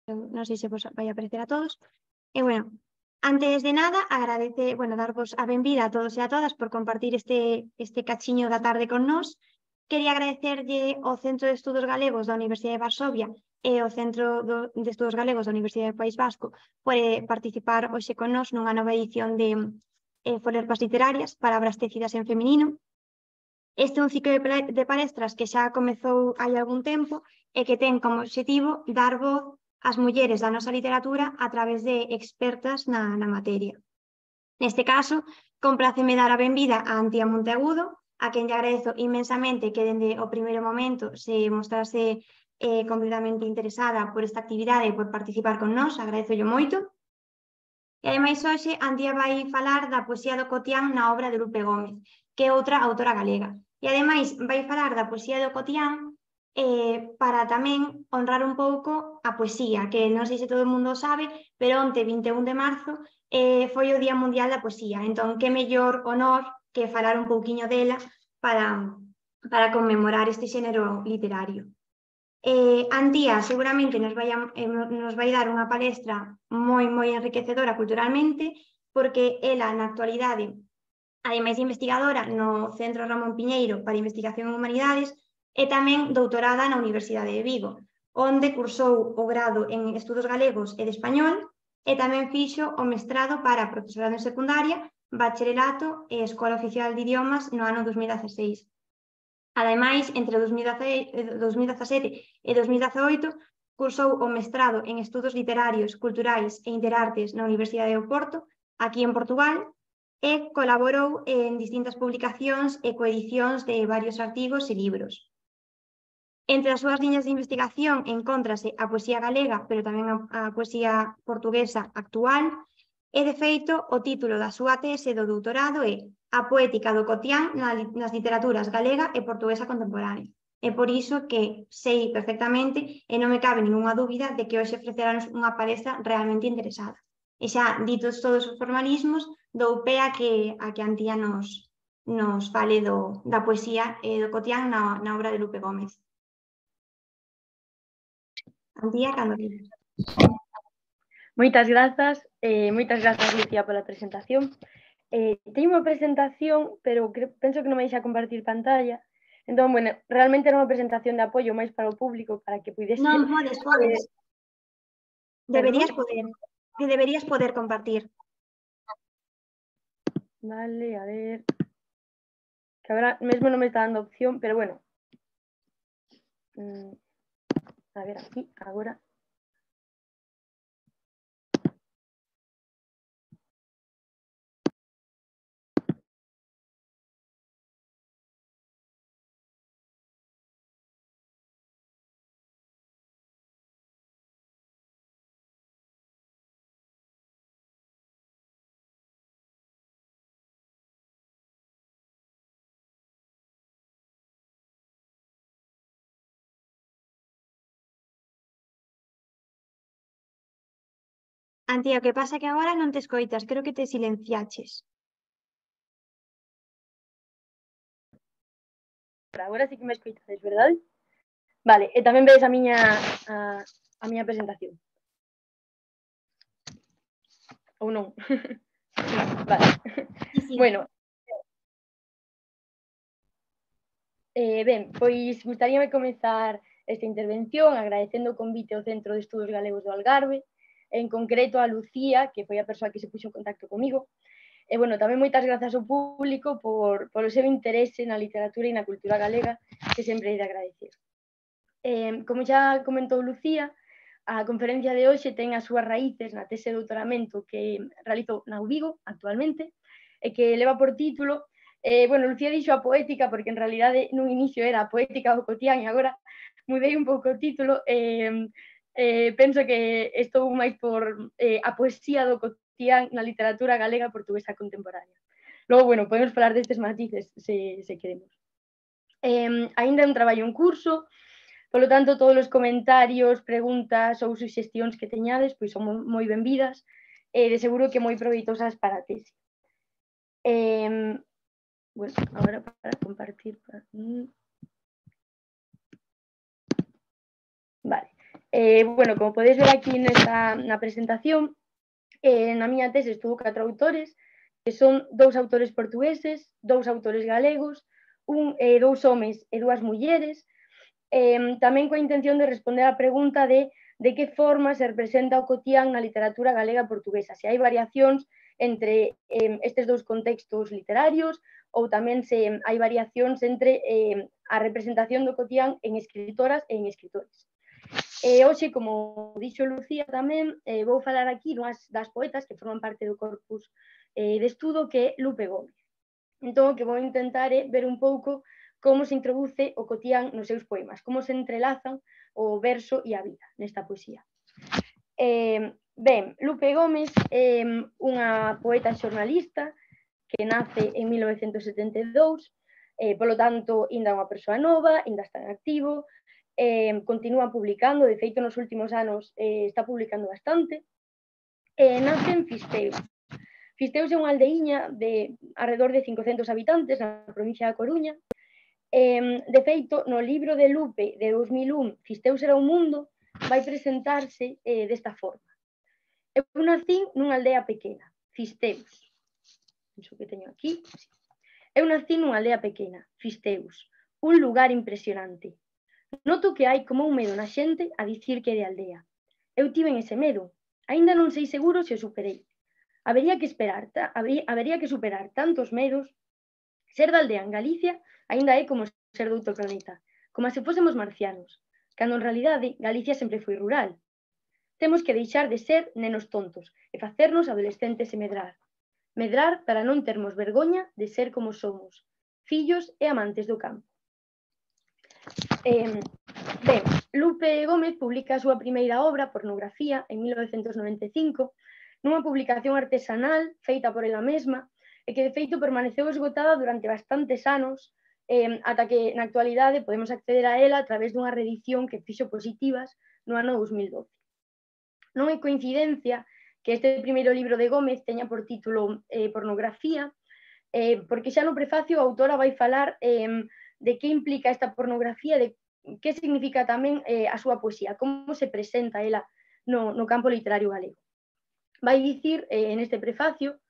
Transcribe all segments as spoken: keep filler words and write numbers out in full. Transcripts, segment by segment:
non sei se vos vai aparecer a todos. E, bueno, antes de nada, agradece, bueno, darvos a benvida a todos e a todas por compartir este, este cachiño da tarde con nós. Quería agradecerlle ao Centro de Estudos Galegos da Universidade de Varsovia e ao Centro do, de Estudos Galegos da Universidade do País Vasco por eh, participar hoxe con nós nunha nova edición de eh, Folerpas Literarias, Palabras tecidas en feminino. Este é un ciclo de, de palestras que xa comezou hai algún tempo e que ten como obxectivo dar voz ás mulleres da nosa literatura a través de expertas na, na materia. Neste caso, compláceme dar a benvida a Antía Monteagudo, a quen lle agradezo inmensamente que dende o primeiro momento se mostrase eh, completamente interesada por esta actividade e por participar con nós, agradezo-llo moito. E ademais hoxe Antía vai falar da poesía do cotián na obra de Lupe Gómez, que é outra autora galega. E ademais vai falar da poesía do cotián eh, para tamén honrar un pouco a poesía, que non sei se todo o mundo sabe, pero onte, vinte e un de marzo, eh, foi o Día Mundial da Poesía. Entón, que mellor honor que falar un pouquiño dela para, para conmemorar este xénero literario. Eh, Antía seguramente nos vai, a, eh, nos vai dar unha palestra moi, moi enriquecedora culturalmente, porque ela na actualidade, ademais de investigadora no Centro Ramón Piñeiro para Investigación en Humanidades, e tamén doutorada na Universidade de Vigo, onde cursou o grado en Estudos Galegos e de Español, e tamén fixo o mestrado para profesorado en secundaria, bacharelato e Escola Oficial de Idiomas no ano dos mil dieciséis. Ademais, entre dos mil dezasete e dos mil dezaoito, cursou o mestrado en Estudos Literarios, Culturais e Interartes na Universidade do Porto, aquí en Portugal, e colaborou en distintas publicacións e coedicións de varios artigos e libros. Entre as súas liñas de investigación encóntrase a poesía galega, pero tamén a, a poesía portuguesa actual, e, de feito, o título da súa tese do doutorado é A poética do cotián nas literaturas galega e portuguesa contemporánea. É por iso que sei perfectamente e non me cabe ninguna dúbida de que hoxe ofrecerán unha palestra realmente interesada. E xa, ditos todos os formalismos, dou pé a que, a que Antía nos, nos fale do, da poesía e do cotián na, na obra de Lupe Gómez. Antía, cando queres. Moitas grazas, eh, moitas grazas, Lucía, pola presentación. Eh, teño unha presentación, pero que, penso que non me deixa compartir pantalla. Entón, bueno, realmente era unha presentación de apoio máis para o público, para que pudese... Non, podes, podes. Eh, deberías poder, que deberías poder compartir. Vale, a ver... Que agora mesmo non me está dando opción, pero bueno. Mm, a ver, aquí, agora... Antía, o que pasa é que agora non te escoitas, creo que te silenciaches. Agora sí que me escoitades, verdade? Vale, e tamén vedes a miña a, a miña presentación. Ou non? Vale. Sí, sí. Bueno. Eh, ben, pois gustaríame comezar esta intervención agradecendo o convite ao Centro de Estudos Galegos do Algarve, en concreto a Lucía, que foi a persoa que se puxo en contacto comigo. E, bueno, tamén moitas grazas ao público por, por o seu interese na literatura e na cultura galega, que sempre hai de agradecer. Eh, como xa comentou Lucía, a conferencia de hoxe ten as súas raíces na tese de doutoramento que realizou na U Vigo actualmente e que leva por título, eh, bueno, Lucía dixo a poética porque en realidade nun inicio era a poética do cotián e agora mudei un pouco o título, eh, eh, penso que estou máis por eh, a poesía do cotián na literatura galega portuguesa contemporánea. Logo, bueno, podemos falar destes matices se, se queremos. Eh, ainda é un traballo en curso. Polo tanto, todos os comentarios, preguntas ou suxestións que teñades pois son moi benvidas e de seguro que moi proveitosas para a tese. Eh, bueno, agora para compartir... Vale. Eh, bueno, como podedes ver aquí nesta, na presentación, eh, na miña tese estudo catro autores, que son dous autores portugueses, dous autores galegos, un, eh, dous homes e dúas mulleres, eh, tamén coa intención de responder á pregunta de de que forma se representa o cotián na literatura galega portuguesa, se hai variacións entre eh, estes dous contextos literarios ou tamén se hai variacións entre eh, a representación do cotián en escritoras e en escritores. E hoxe, como dixo Lucía tamén, eh, vou falar aquí dunhas das poetas que forman parte do corpus eh, de estudo, que é Lupe Gómez. Entón, o que vou intentar é ver un pouco como se introduce o cotián nos seus poemas, como se entrelazan o verso e a vida nesta poesía. Eh, ben, Lupe Gómez é unha poeta xornalista que nace en mil novecentos setenta e dous, eh, polo tanto, ainda é unha persoa nova, ainda está en activo, eh, continúa publicando, de feito nos últimos anos eh, está publicando bastante, eh, nace en Fisteus. Fisteus é unha aldeiña de alrededor de cincocentos habitantes na provincia da Coruña. Eh, de feito, no libro de Lupe de dous mil un, Fisteus era un mundo, vai presentarse eh, desta forma. Eu nacín nunha aldea pequena, Fisteus. Iso que teño aquí. Eu nacín nunha aldea pequena, Fisteus, un lugar impresionante. Noto que hai como un medo na xente a dicir que é de aldea. Eu tiven ese medo. Aínda non sei seguro se o superei. Habería que esperar, habería, habería que superar tantos medos. Ser da aldea en Galicia aínda é como ser de outro planeta, como se fósemos marcianos, cando en realidade Galicia sempre foi rural. Temos que deixar de ser nenos tontos e facernos adolescentes e medrar. Medrar para non termos vergoña de ser como somos, fillos e amantes do campo. Eh, ben, Lupe Gómez publica a súa primeira obra, Pornografía, en mil novecentos noventa e cinco, nunha publicación artesanal feita por ela mesma e que de feito permaneceu esgotada durante bastantes anos, eh, ata que na actualidade podemos acceder a ela a través dunha reedición que fixo Positivas no ano dous mil doce. Non é coincidencia que este primeiro libro de Gómez teña por título eh, Pornografía, eh, porque xa no prefacio a autora vai falar eh, de que implica esta pornografía, de que significa tamén eh, a súa poesía, como se presenta ela no, no campo literario galego. Vai dicir eh, neste prefacio: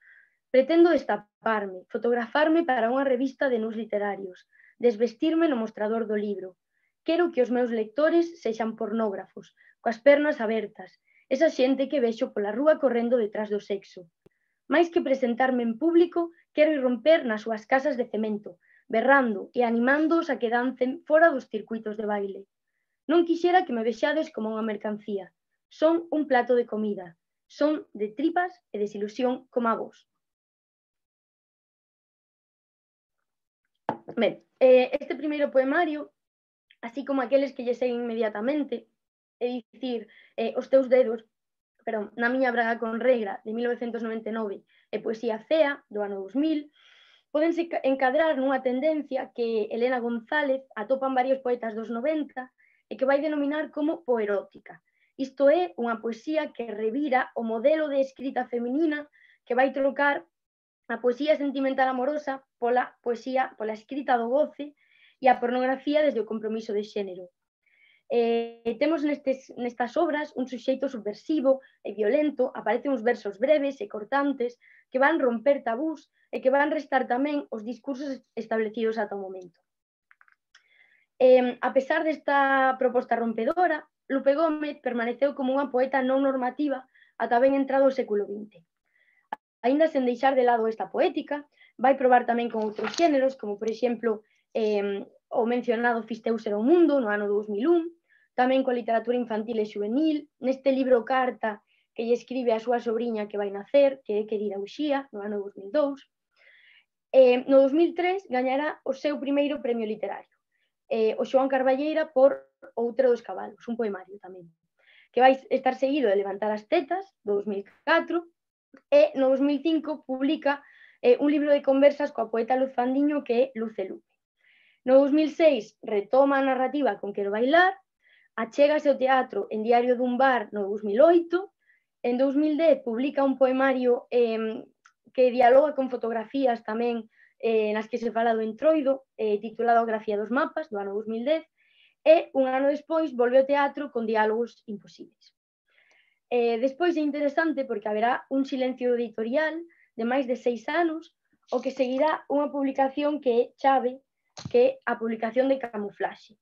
pretendo destaparme, fotografarme para unha revista de nus literarios, desvestirme no mostrador do libro. Quero que os meus lectores sexan pornógrafos, coas pernas abertas, esa xente que vexo pola rúa correndo detrás do sexo. Mais que presentarme en público, quero irromper nas súas casas de cemento, berrando e animándoos a que dancen fora dos circuitos de baile. Non quixera que me vexades como unha mercancía. Son un plato de comida. Son de tripas e desilusión como a vos. Ben, eh, este primeiro poemario, así como aqueles que lle seguen inmediatamente, é dicir, eh, Os teus dedos, perdón, Na miña braga con regra, de mil novecentos noventa e nove, e Poesía fea, do ano dous mil, pódense encadrar nunha tendencia que Elena González atopa en varios poetas dos noventa e que vai denominar como poerótica. Isto é unha poesía que revira o modelo de escrita feminina, que vai trocar a poesía sentimental amorosa pola poesía, pola escrita do goce e a pornografía desde o compromiso de xénero. Eh, temos nestes, nestas obras un suxeito subversivo e violento, aparecen uns versos breves e cortantes que van romper tabús e que van restar tamén os discursos establecidos ata o momento. Eh, a pesar desta proposta rompedora, Lupe Gómez permaneceu como unha poeta non normativa ata ben entrado o século vinte. Aínda sen deixar de lado esta poética, vai probar tamén con outros xéneros, como por exemplo eh, o mencionado Fisteus era o mundo, no ano dous mil un, tamén coa literatura infantil e juvenil, neste libro Carta que lle escribe a súa sobriña que vai nacer, que é Querida Uxía, no ano dous mil dous. Eh, no dous mil tres gañará o seu primeiro premio literario, eh, o Xoán Carballeira por Outra dos cabalos, un poemario tamén, que vai estar seguido de Levantar as tetas, do dous mil catro, e no dous mil cinco publica eh, un libro de conversas coa poeta Luz Fandiño que é Luz e Lupe. No dous mil seis retoma a narrativa con Quero bailar, achégase ao teatro en Diario dun bar no dous mil oito, en dous mil dez publica un poemario eh, que dialoga con fotografías tamén eh, nas que se fala do entroido, eh, titulado Grafía dos mapas, do ano dous mil dez, e un ano despois volve ao teatro con Diálogos imposibles. Eh, despois é interesante porque haberá un silencio editorial de máis de seis anos, o que seguirá unha publicación que é chave, que é a publicación de Camuflaxe.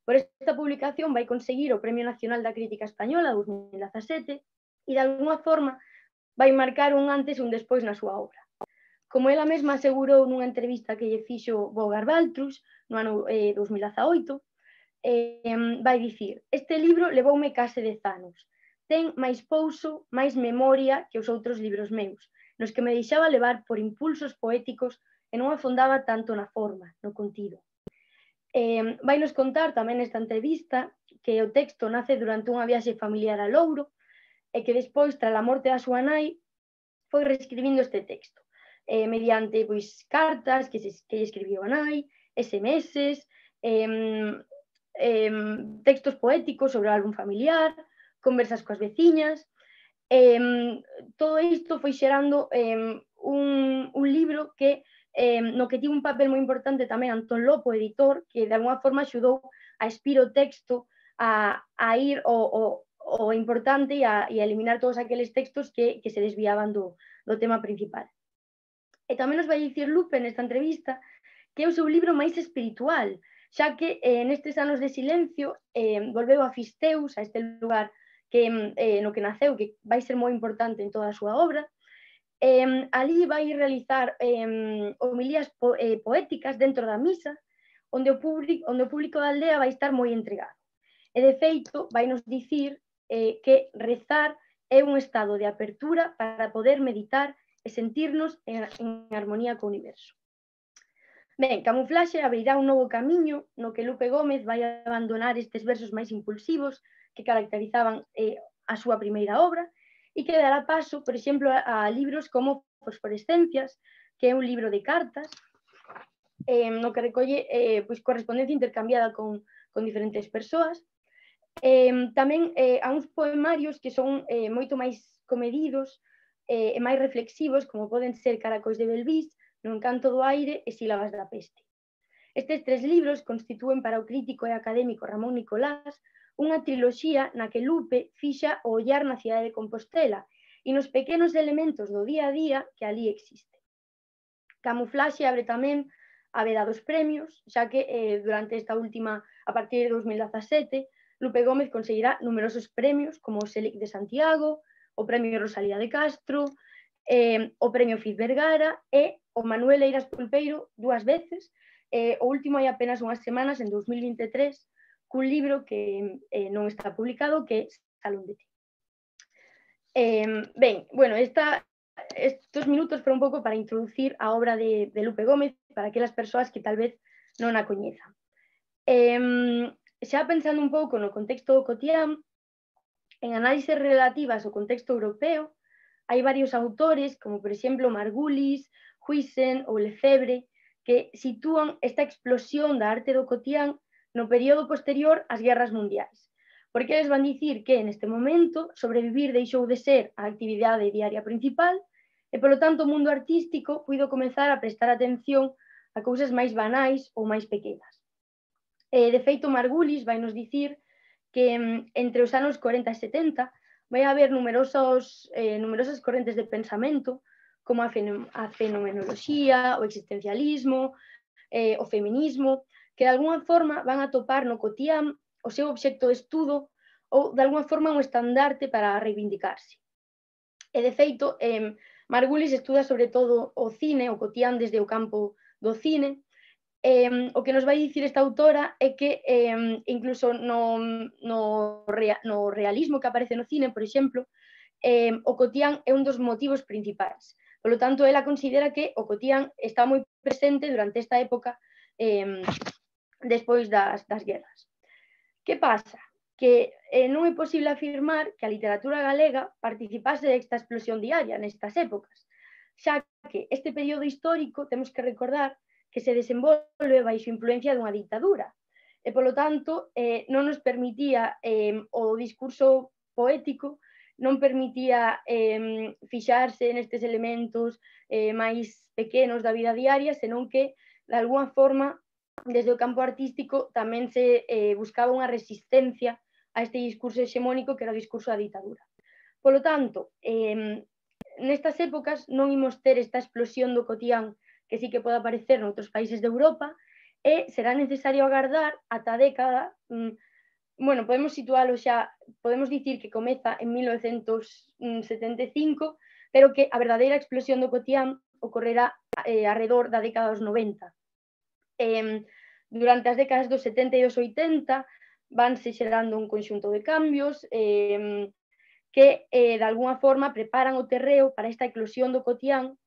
Por esta publicación vai conseguir o Premio Nacional da Crítica Española dos mil dezasete e, de alguna forma, vai marcar un antes e un despois na súa obra. Como ela mesma asegurou nunha entrevista que lle fixo Bogar Baltrus no ano eh, dos mil dezaoito, eh, vai dicir: este libro levoume case dez anos. Ten máis pouso, máis memoria que os outros libros meus, nos que me deixaba levar por impulsos poéticos e non afondaba tanto na forma, no contido. Eh, vai nos contar tamén nesta entrevista que o texto nace durante unha viaxe familiar a Louro e que despois, tras a morte da súa nai, foi reescribindo este texto eh, mediante pois, cartas que, se, que lle escribiu a nai, S M S, eh, eh, textos poéticos sobre o álbum familiar, conversas coas veciñas. Eh, todo isto foi xerando eh, un, un libro que eh, no que tivo un papel moi importante tamén Antón Lopo, editor, que de alguna forma axudou a expir o texto a, a ir o, o, o importante e a, e a eliminar todos aqueles textos que, que se desviaban do, do tema principal. E tamén nos vai dicir Lupe nesta entrevista que é o seu libro máis espiritual, xa que eh, nestes anos de silencio eh, volveu a Fisteus, a este lugar que, eh, no que naceu, que vai ser moi importante en toda a súa obra. Eh, ali vai realizar eh, homilías po, eh, poéticas dentro da misa, onde o, público, onde o público da aldea vai estar moi entregado. E, de feito, vai nos dicir eh, que rezar é un estado de apertura para poder meditar e sentirnos en, en armonía co universo. Ben, Camuflaxe abrirá un novo camiño no que Lupe Gómez vai abandonar estes versos máis impulsivos que caracterizaban eh, a súa primeira obra e que dará paso, por exemplo, a, a libros como Fosforescencias, que é un libro de cartas eh, no que recolle eh, pois, correspondencia intercambiada con, con diferentes persoas. Eh, tamén eh, a uns poemarios que son eh, moito máis comedidos eh, e máis reflexivos, como poden ser Caracois de Belvís, No encanto do aire e Sílabas da peste. Estes tres libros constitúen para o crítico e académico Ramón Nicolás unha triloxía na que Lupe fixa o ollar na cidade de Compostela e nos pequenos elementos do día a día que ali existe. Camuflaxe abre tamén a veda dos premios, xa que eh, durante esta última, a partir de dos mil dezasete, Lupe Gómez conseguirá numerosos premios como o Selic de Santiago, o Premio Rosalía de Castro, eh, o Premio Fiz Vergara e o Manuel Eiras Pulpeiro dúas veces, eh, o último hai apenas unhas semanas, en dos mil vinte e tres, cun libro que eh, non está publicado, que é Salón de Té. Eh, ben, bueno, esta, estos minutos foron un pouco para introducir a obra de, de Lupe Gómez para aquelas persoas que tal vez non a coñezan. Eh, xa pensando un pouco no contexto do cotián, en análises relativas ao contexto europeo, hai varios autores, como por exemplo Margulis, Huisen ou Lefebvre, que sitúan esta explosión da arte do cotián no período posterior ás guerras mundiais, porque eles van dicir que neste momento sobrevivir deixou de ser a actividade diaria principal e, polo tanto, o mundo artístico puido comezar a prestar atención a cousas máis banais ou máis pequenas. Eh, de feito, Margulis vai nos dicir que entre os anos corenta e setenta vai haber numerosos, eh, numerosas correntes de pensamento, como a, fen a fenomenoloxía, o existencialismo, eh, o feminismo, que de alguna forma van a topar no cotián o seu obxecto de estudo ou de alguna forma un estandarte para reivindicarse. E de feito, eh, Margulis estuda sobre todo o cine, o cotián desde o campo do cine. Eh, o que nos vai dicir esta autora é que eh, incluso no, no, rea, no realismo que aparece no cine, por exemplo, eh, o cotián é un dos motivos principais. Por lo tanto, ela considera que o cotián está moi presente durante esta época eh, despois das, das guerras. Que pasa? Que eh, non é posible afirmar que a literatura galega participase desta explosión diaria nestas épocas, xa que este período histórico temos que recordar que se desenvolve baixo influencia dunha dictadura e, polo tanto, eh, non nos permitía eh, o discurso poético, non permitía eh, fixarse nestes elementos eh, máis pequenos da vida diaria, senón que, de alguna forma, desde o campo artístico tamén se eh, buscaba unha resistencia a este discurso hexemónico que era o discurso da ditadura. Polo tanto, eh, nestas épocas non imos ter esta explosión do cotián que sí que pode aparecer noutros países de Europa e será necesario agardar ata a década, mm, bueno, podemos situalo xa, podemos dicir que comeza en mil novecentos setenta e cinco, pero que a verdadeira explosión do cotián ocorrerá eh, arredor da década dos noventa. Eh, durante as décadas dos setenta e dos oitenta vanse xerando un conxunto de cambios eh, que eh, de alguna forma preparan o terreo para esta eclosión do cotián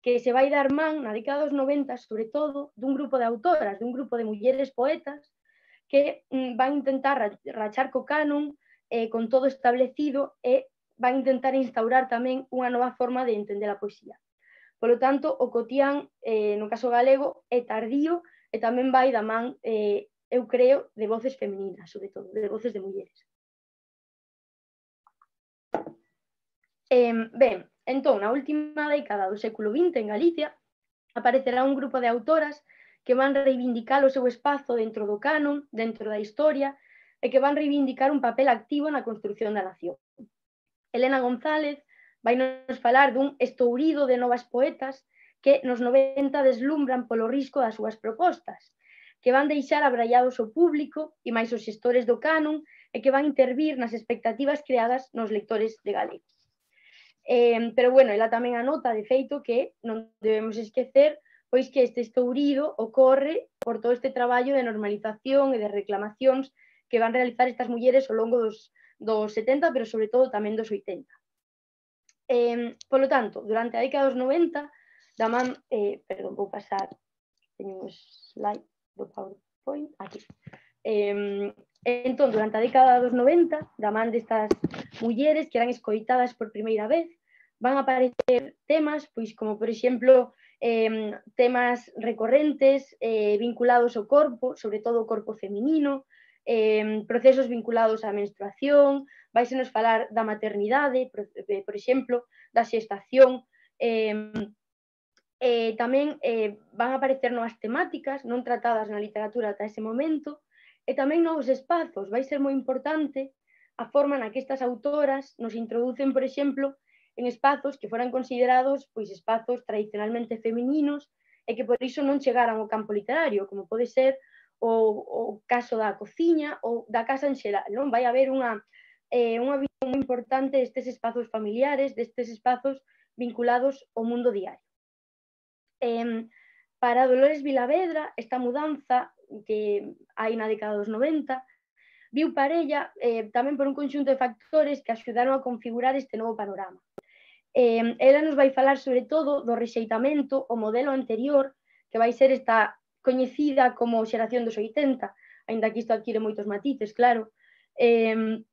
que se vai dar man na década dos noventa, sobre todo, dun grupo de autoras, dun grupo de mulleres poetas que mm, van intentar rachar co canon eh, con todo establecido e van intentar instaurar tamén unha nova forma de entender a poesía. Polo tanto, o cotián, eh, no caso galego, é tardío e tamén vai da man, eh, eu creo, de voces femininas, sobre todo, de voces de mulleres. Eh, ben, entón, na última década do século vinte en Galicia aparecerá un grupo de autoras que van reivindicar o seu espazo dentro do canon, dentro da historia, e que van reivindicar un papel activo na construción da nación. Elena González vai nos falar dun estourido de novas poetas que nos noventa deslumbran polo risco das súas propostas, que van deixar abrallados o público e máis os xestores do canon e que van intervir nas expectativas creadas nos lectores de galego. Eh, pero, bueno, ela tamén anota, de feito, que non debemos esquecer pois que este estourido ocorre por todo este traballo de normalización e de reclamacións que van realizar estas mulleres ao longo dos, dos setenta, pero sobre todo tamén dos oitenta. Eh, polo tanto, durante a década dos noventa, da man, eh, perdón, vou pasar, teño un slide do PowerPoint, aquí. Eh, entón, durante a década dos noventa, da man destas mulleres que eran escoitadas por primeira vez, van a aparecer temas, pois como, por exemplo, eh, temas recorrentes eh, vinculados ao corpo, sobre todo o corpo feminino, eh, procesos vinculados á menstruación, vaise nos falar da maternidade, por, por exemplo, da xestación, eh, eh, tamén eh, van a aparecer novas temáticas non tratadas na literatura ata ese momento, e tamén novos espazos. Vai ser moi importante a forma na que estas autoras nos introducen, por exemplo, en espazos que foran considerados pois espazos tradicionalmente femininos e que por iso non chegaran ao campo literario, como pode ser o, o caso da cociña ou da casa en xeral, non? Vai haber unha, eh, unha visión moi importante destes espazos familiares, destes espazos vinculados ao mundo diario. Eh, para Dolores Vilavedra, esta mudanza que hai na década dos noventa viu parella eh, tamén por un conxunto de factores que axudaron a configurar este novo panorama. Eh, ela nos vai falar sobre todo do rexeitamento ao modelo anterior, que vai ser esta coñecida como xeración dos oitenta, aínda que isto adquire moitos matices, claro. Eh,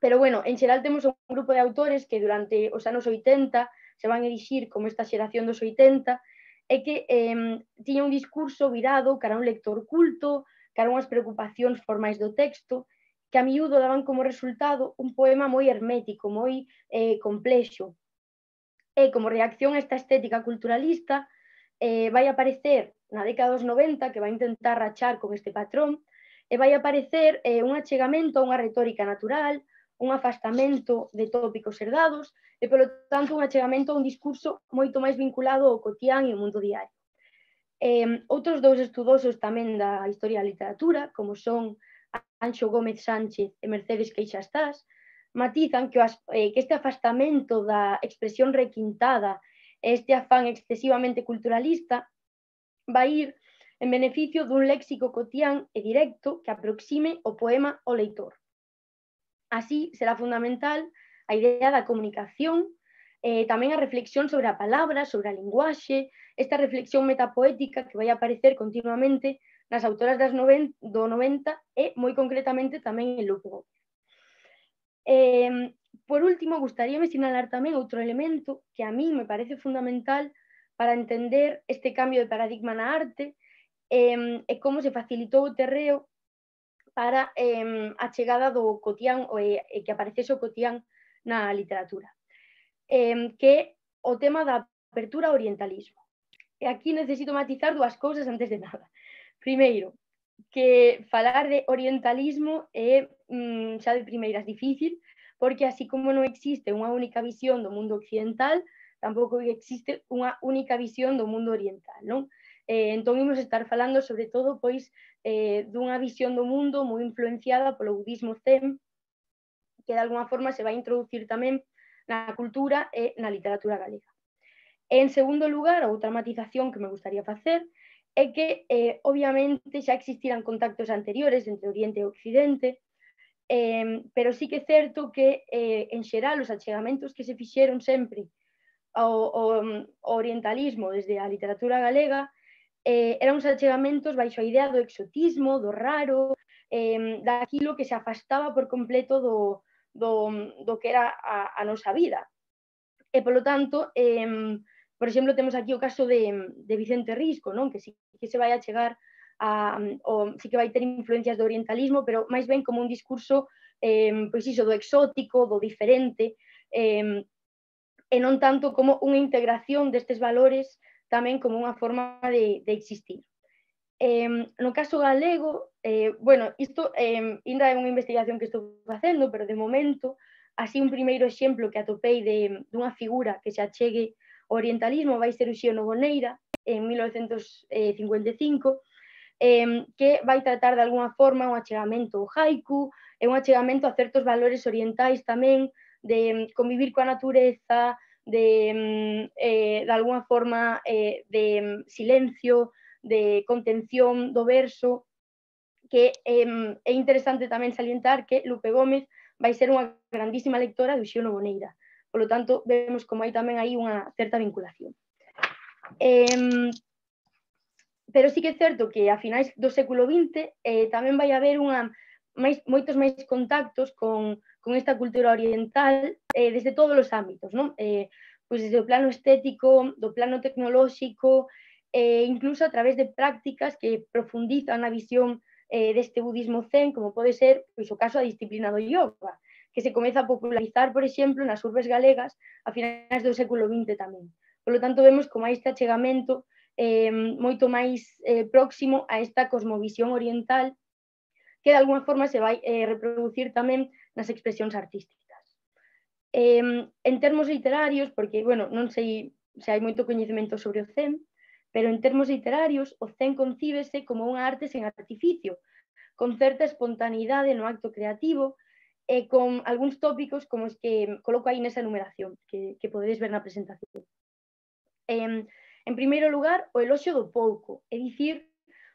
pero, bueno, en xeral temos un grupo de autores que durante os anos oitenta se van erixir como esta xeración dos oitenta e que eh, tiña un discurso virado cara a un lector culto, cara a unhas preocupacións formais do texto, que a miúdo daban como resultado un poema moi hermético, moi eh, complexo. E como reacción a esta estética culturalista, eh, vai aparecer na década dos noventa, que vai intentar rachar con este patrón, e vai aparecer eh, un achegamento a unha retórica natural, un afastamento de tópicos herdados, e, polo tanto, un achegamento a un discurso moito máis vinculado ao cotián e ao mundo diario. Eh, outros dous estudosos tamén da historia da literatura, como son Anxo Gómez Sánchez e Mercedes Queixastás, matizan que, o, eh, que este afastamento da expresión requintada e este afán excesivamente culturalista vai ir en beneficio dun léxico cotián e directo que aproxime o poema ao leitor. Así, será fundamental a idea da comunicación, eh, tamén a reflexión sobre a palabra, sobre a linguaxe, esta reflexión metapoética que vai aparecer continuamente nas autoras das noven, do noventa e, moi concretamente, tamén en Lupe Gómez. Eh, por último, gustaríame sinalar tamén outro elemento que a mí me parece fundamental para entender este cambio de paradigma na arte eh, e como se facilitou o terreo para eh, a chegada do cotián e eh, que aparecese o cotián na literatura, eh, que é o tema da apertura ao orientalismo. E aquí necesito matizar dúas cousas antes de nada. Primeiro, que falar de orientalismo é mm, xa de primeiras difícil, porque así como non existe unha única visión do mundo occidental, tampouco existe unha única visión do mundo oriental, non? Eh, entón, imos estar falando sobre todo pois eh, dunha visión do mundo moi influenciada polo budismo zen, que de alguma forma se vai introducir tamén na cultura e na literatura galega. En segundo lugar, a outra matización que me gustaría facer é que, eh, obviamente, xa existiran contactos anteriores entre Oriente e Occidente, eh, pero sí que é certo que, eh, en xeral, os achegamentos que se fixeron sempre ao, ao, ao orientalismo desde a literatura galega eh, eran uns achegamentos baixo a idea do exotismo, do raro, eh, daquilo que se afastaba por completo do, do, do que era a, a nosa vida. E, polo tanto, eh, por exemplo, temos aquí o caso de, de Vicente Risco, non? Que sí que se vai a chegar a, o, sí que vai ter influencias do orientalismo, pero máis ben como un discurso eh, pois iso, do exótico, do diferente, eh, e non tanto como unha integración destes valores tamén como unha forma de, de existir. Eh, no caso galego, eh, bueno, isto eh, ainda é unha investigación que estou facendo, pero de momento, así un primeiro exemplo que atopei de, dunha figura que se achegue ao orientalismo vai ser o Xío Noboneira, en mil novecentos cincuenta e cinco, eh, que vai tratar de alguna forma un achegamento ao haiku, e un achegamento a certos valores orientais tamén, de convivir coa natureza, de, eh, de alguna forma, eh, de silencio, de contención do verso, que eh, é interesante tamén salientar que Lupe Gómez vai ser unha grandísima lectora do Xío Noboneira. Por lo tanto, vemos como hai tamén aí unha certa vinculación. Eh, pero sí que é certo que a finais do século vinte eh, tamén vai haber unha, máis, moitos máis contactos con, con esta cultura oriental eh, desde todos os ámbitos, non? Eh, pois desde o plano estético, do plano tecnolóxico, eh, incluso a través de prácticas que profundizan na visión eh, deste budismo zen, como pode ser pois, o caso da disciplina do yoga, que se comeza a popularizar, por exemplo, nas urbes galegas a finais do século vinte tamén. Por lo tanto, vemos como hai este achegamento eh, moito máis eh, próximo a esta cosmovisión oriental que de alguna forma se vai eh, reproducir tamén nas expresións artísticas. Eh, en termos literarios, porque, bueno, non sei se hai moito coñecemento sobre o zen, pero en termos literarios, o zen concíbese como unha arte sen artificio, con certa espontaneidade no acto creativo e con algúns tópicos como os que coloco aí nesa enumeración, que, que podedes ver na presentación. Eh, en primeiro lugar, o eloxio do pouco, é dicir,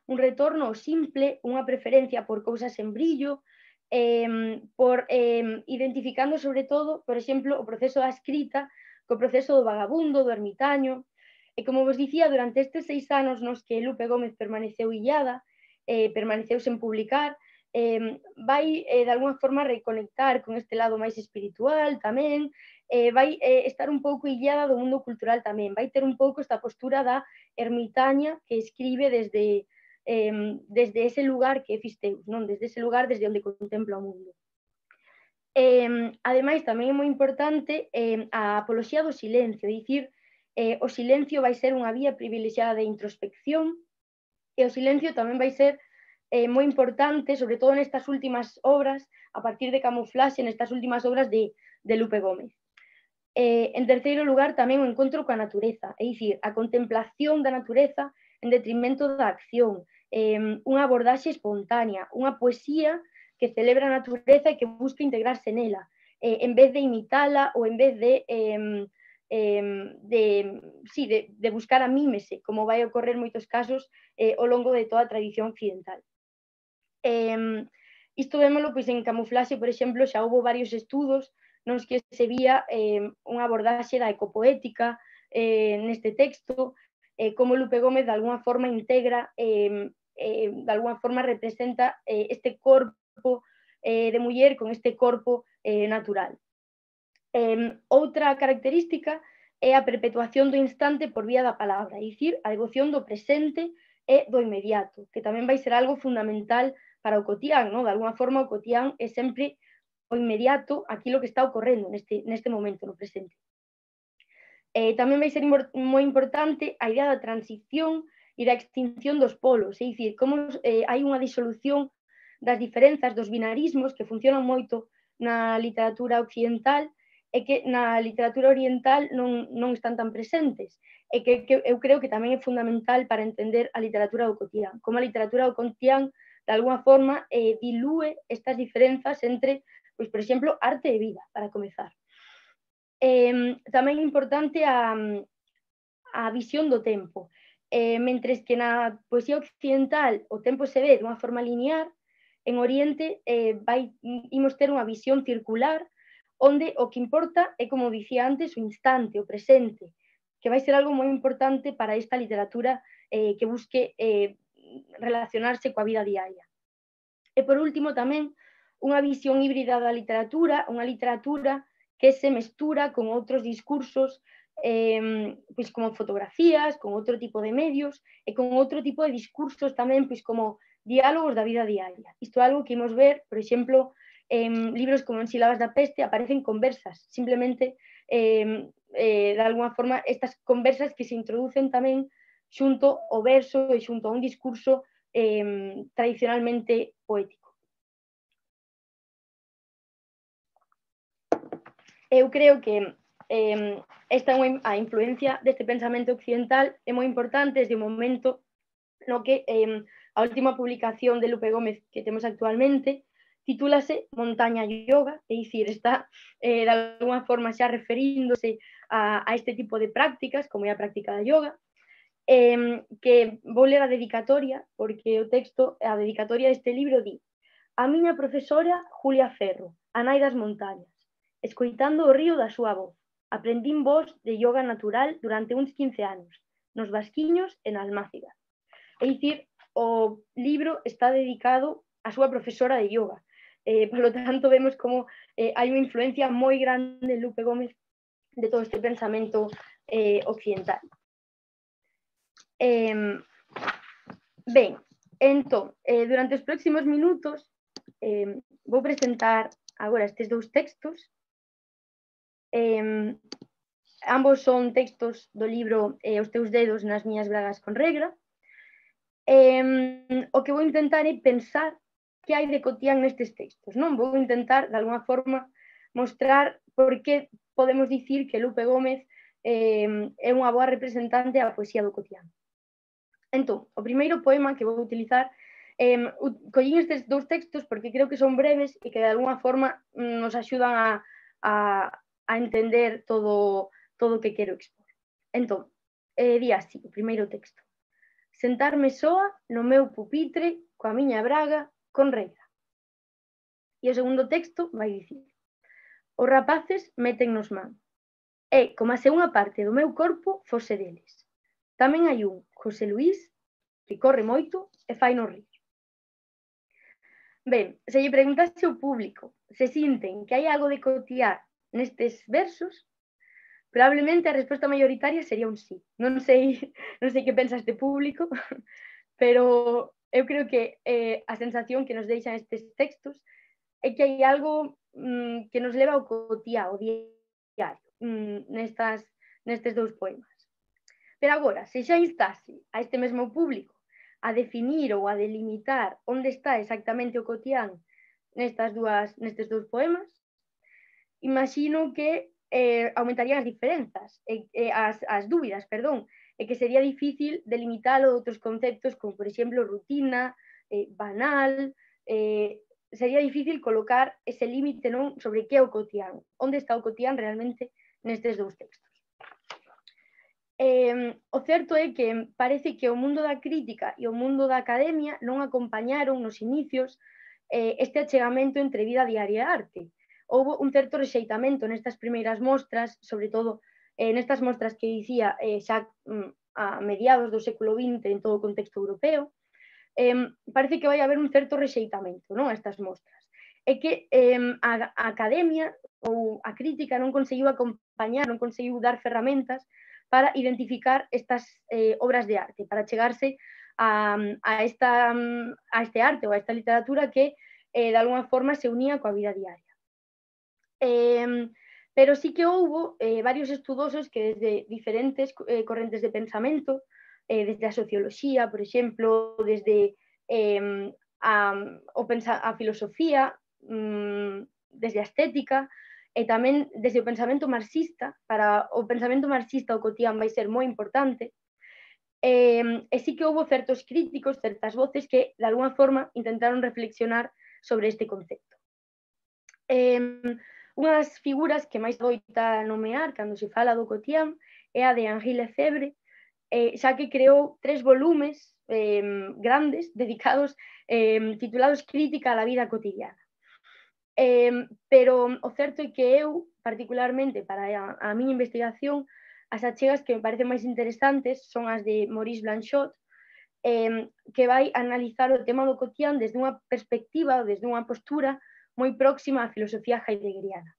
un retorno ao simple, unha preferencia por cousas en brillo, eh, por eh, identificando sobre todo, por exemplo, o proceso da escrita co proceso do vagabundo, do ermitaño. E como vos dicía, durante estes seis anos nos que Lupe Gómez permaneceu illada, eh, permaneceu sen publicar, eh, vai eh, de alguna forma reconectar con este lado máis espiritual tamén, eh, vai eh, estar un pouco illada do mundo cultural tamén, vai ter un pouco esta postura da ermitaña que escribe desde, eh, desde ese lugar que é Fisteus, non? Desde ese lugar desde onde contempla o mundo. Eh, ademais, tamén é moi importante eh, a apoloxía do silencio, é dicir, eh, o silencio vai ser unha vía privilexiada de introspección e o silencio tamén vai ser eh, moi importante, sobre todo nestas últimas obras, a partir de Camuflaxe, nestas últimas obras de, de Lupe Gómez. Eh, en terceiro lugar, tamén o encontro coa natureza, é dicir, a contemplación da natureza en detrimento da acción, eh, unha abordaxe espontánea, unha poesía que celebra a natureza e que busca integrarse nela, eh, en vez de imitala ou en vez de... Eh, Eh, de, sí, de, de buscar a mímese, como vai ocorrer moitos casos eh, ao longo de toda a tradición occidental. Eh, isto vémolo pois, en Camuflaxe, por exemplo, xa houve varios estudos nos que se vía eh, unha abordaxe da ecopoética eh, neste texto, eh, como Lupe Gómez de alguna forma integra, eh, eh, de alguna forma representa eh, este corpo eh, de muller con este corpo eh, natural. Eh, outra característica é a perpetuación do instante por vía da palabra, é dicir, a devoción do presente e do inmediato, que tamén vai ser algo fundamental para o cotián, non? De alguna forma o cotián é sempre o inmediato, aquilo que está ocorrendo neste, neste momento, no presente. Eh, tamén vai ser moi importante a idea da transición, e da extinción dos polos, é dicir, como eh, hai unha disolución das diferenzas, dos binarismos que funcionan moito na literatura occidental e que na literatura oriental non, non están tan presentes. E que, que eu creo que tamén é fundamental para entender a literatura do cotián. Como a literatura do cotián, de alguna forma, eh, dilúe estas diferenzas entre, pois, por exemplo, arte e vida, para comezar. Eh, tamén é importante a, a visión do tempo. Eh, mentres que na poesía occidental o tempo se ve dunha forma linear, en Oriente eh, vai, imos ter unha visión circular onde o que importa é, como dicía antes, o instante, o presente, que vai ser algo moi importante para esta literatura eh, que busque eh, relacionarse coa vida diaria. E por último tamén unha visión híbrida da literatura, unha literatura que se mestura con outros discursos, eh, pois como fotografías, con outro tipo de medios e con outro tipo de discursos tamén, pois como diálogos da vida diaria. Isto é algo que imos ver, por exemplo, en libros como En sílabas da peste aparecen conversas, simplemente eh, eh, de alguna forma estas conversas que se introducen tamén xunto ao verso e xunto a un discurso eh, tradicionalmente poético. Eu creo que eh, esta a influencia deste pensamento occidental é moi importante desde o momento no que eh, a última publicación de Lupe Gómez que temos actualmente titúlase Montaña Yoga, é dicir, está eh, de alguna forma xa referíndose a, a este tipo de prácticas, como é a práctica da yoga, eh, que vou ler a dedicatoria, porque o texto, a dedicatoria deste libro di: a miña profesora Julia Ferro, a nai das montañas, escoitando o río da súa voz, aprendín voz de yoga natural durante uns quince anos, nos Vasquiños e na Almáciga. É dicir, o libro está dedicado á súa profesora de yoga. Eh, por lo tanto, vemos como eh, hai unha influencia moi grande en Lupe Gómez de todo este pensamento eh, occidental. Eh, ben, entón, eh, durante os próximos minutos eh, vou presentar agora estes dous textos. Eh, ambos son textos do libro eh, Os teus dedos nas miñas bragas con regra. Eh, o que vou intentar é pensar que hai de cotián nestes textos, non? Vou intentar, de alguna forma, mostrar por que podemos dicir que Lupe Gómez eh, é unha boa representante da poesía do cotián. Entón, o primeiro poema que vou utilizar, eh, collín estes dous textos porque creo que son breves e que de alguna forma nos axudan a, a, a entender todo, todo o que quero expor. Entón, eh, di así, o primeiro texto: sentarme soa no meu pupitre coa miña braga con regra. E o segundo texto vai dicir: os rapaces métennos man. É como se unha parte do meu corpo fose deles. Tamén hai un José Luís que corre moito e fai no rir. Ben, se lle preguntase ao público se sinten que hai algo de cotián nestes versos, probablemente a resposta mayoritaria sería un sí. Non sei, non sei que pensa este público, pero eu creo que eh, a sensación que nos deixan estes textos é que hai algo mm, que nos leva ao cotián, ao diario, mm, nestas, nestes dous poemas. Pero agora, se xa instase a este mesmo público a definir ou a delimitar onde está exactamente o cotián nestas dúas, nestes dous poemas, imagino que eh, aumentarían as diferenzas, e, e as, as dúbidas, perdón, e que sería difícil delimitalo de outros conceptos como, por exemplo, rutina, eh, banal, eh, sería difícil colocar ese límite, non, sobre que é o cotián, onde está o cotián realmente nestes dous textos. Eh, o certo é que parece que o mundo da crítica e o mundo da academia non acompañaron nos inicios eh, este achegamento entre vida diaria e arte. Houve un certo rexeitamento nestas primeiras mostras, sobre todo eh, nestas mostras que dicía eh, xa mm, a mediados do século vinte en todo o contexto europeo, eh, parece que vai haber un certo rexeitamento, non, a estas mostras. É que eh, a, a academia ou a crítica non conseguiu acompañar, non conseguiu dar ferramentas para identificar estas eh, obras de arte, para chegarse a, a, esta, a este arte ou a esta literatura que eh, de alguna forma se unía coa vida diaria. Eh, pero sí que houbo eh, varios estudosos que desde diferentes eh, correntes de pensamento eh, desde a socioloxía, por exemplo, desde eh, a, o pensa, a filosofía, mm, desde a estética, e tamén desde o pensamento marxista. Para o pensamento marxista o cotián vai ser moi importante, e, e sí que houve certos críticos, certas voces que de alguna forma intentaron reflexionar sobre este concepto. Eh, unha das figuras que máis doita nomear cando se fala do cotián é a de Henri Lefebvre, eh, xa que creou tres volumes eh, grandes dedicados, eh, titulados Crítica a la vida cotidiana. Eh, pero o certo é que eu, particularmente para a, a miña investigación, as achegas que me parecen máis interesantes son as de Maurice Blanchot, eh, que vai analizar o tema do cotián desde unha perspectiva, desde unha postura moi próxima á filosofía heideggeriana.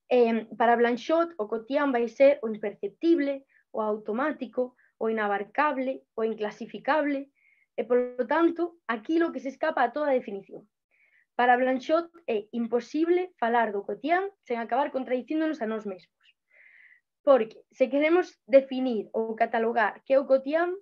Eh, para Blanchot, o cotián vai ser o imperceptible, o automático, o inabarcable, o inclasificable, e, polo tanto, aquilo que se escapa a toda definición. Para Blanchot é imposible falar do cotián sen acabar contradicíndonos a nós mesmos. Porque se queremos definir ou catalogar que é o cotián,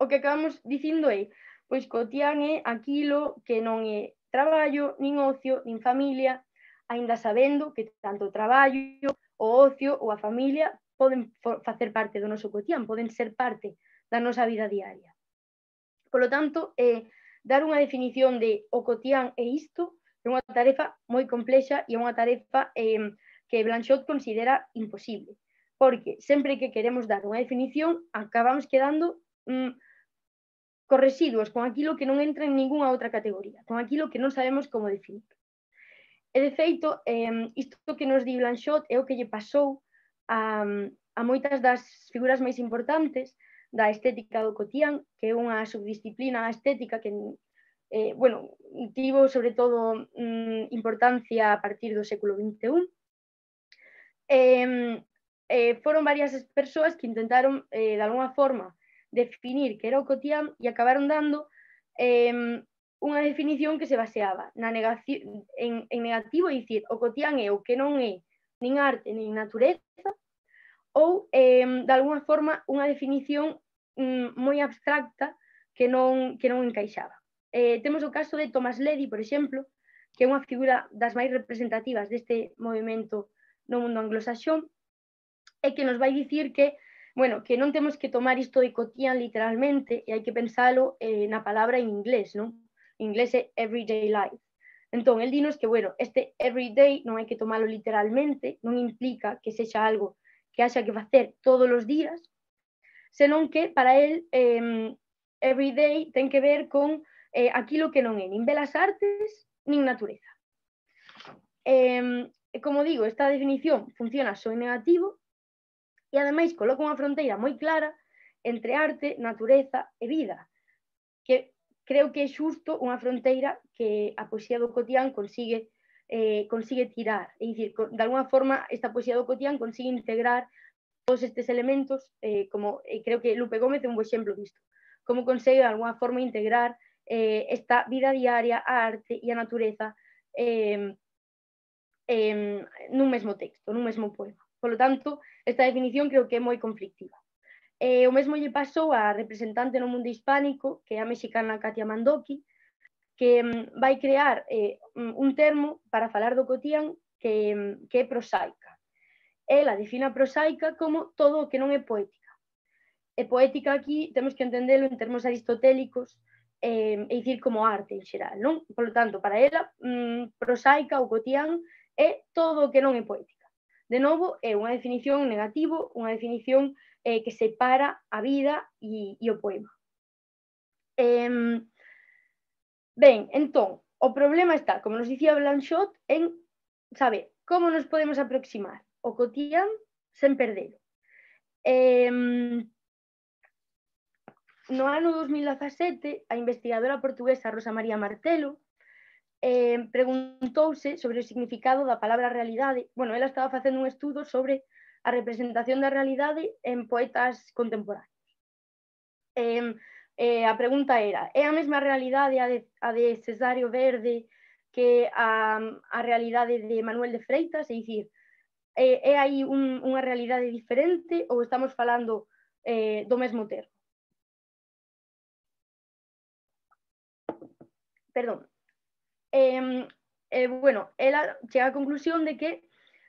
o que acabamos dicindo é, pois cotián é aquilo que non é traballo, nin ocio, nin familia, aínda sabendo que tanto o traballo, o ocio ou a familia poden facer parte do noso cotián, poden ser parte da nosa vida diaria. Por lo tanto, eh, dar unha definición de o cotián é isto é unha tarefa moi complexa e unha tarefa eh, que Blanchot considera imposible, porque sempre que queremos dar unha definición acabamos quedando mm, con residuos, con aquilo que non entra en ningunha outra categoría, con aquilo que non sabemos como definir. E, de feito, eh, isto que nos di Blanchot é o que lle pasou a, a moitas das figuras máis importantes da estética do cotián, que é unha subdisciplina estética que eh, bueno, tivo sobre todo mm, importancia a partir do século vinte e un. Eh, eh, foron varias as persoas que intentaron eh, de alguna forma definir que era o cotián e acabaron dando eh, unha definición que se baseaba na negación, en, en negativo, e dicir, o cotián é o que non é nin arte nin natureza, ou eh, de alguna forma unha definición mm, moi abstracta que non, que non encaixaba. Eh, temos o caso de Thomas Leddy, por exemplo, que é unha figura das máis representativas deste movimento no mundo anglosaxón, e que nos vai dicir que, bueno, que non temos que tomar isto de cotián literalmente e hai que pensalo eh, na palabra en inglés, non? En inglés é everyday life. Entón, el dinos que, bueno, este everyday non hai que tomalo literalmente, non implica que sexa algo que haxa que facer todos os días, senón que para el eh, everyday ten que ver con eh, aquilo que non é nin belas artes nin natureza. Eh, como digo, esta definición funciona só en negativo e ademais coloca unha fronteira moi clara entre arte, natureza e vida, que creo que é xusto unha fronteira que a poesía do cotián consigue, eh, consigue tirar. É dicir, de alguna forma, esta poesía do cotián consigue integrar todos estes elementos, eh, como eh, creo que Lupe Gómez é un bo exemplo disto, como consegue de alguna forma integrar eh, esta vida diaria, a arte e a natureza eh, eh, nun mesmo texto, nun mesmo poema. Por lo tanto, esta definición creo que é moi conflictiva. Eh, o mesmo lle pasou á representante no mundo hispánico, que é a mexicana Katia Mandoki, que um, vai crear eh, un termo para falar do cotián que, que é prosaica. Ela define a prosaica como todo o que non é poética. E poética aquí temos que entendelo en termos aristotélicos, eh, é dicir, como arte en xeral, non? Por lo tanto, para ela, mm, prosaica ou cotián é todo o que non é poética. De novo, é unha definición negativo, unha definición eh, que separa a vida e, e o poema. Eh, ben, entón, o problema está, como nos dicía Blanchot, en saber como nos podemos aproximar o cotián sen perdelo. Eh, no ano dos mil dezasete, a investigadora portuguesa Rosa María Martelo eh, preguntouse sobre o significado da palabra realidade. Bueno, ela estaba facendo un estudo sobre a representación da realidade en poetas contemporáneos. Eh, eh, a pregunta era, é a mesma realidade a de, a de Cesario Verde que a, a realidade de Manuel de Freitas? É dicir, é, é aí un, unha realidade diferente ou estamos falando eh, do mesmo termo. Perdón. Eh, eh, bueno, ela chega á conclusión de que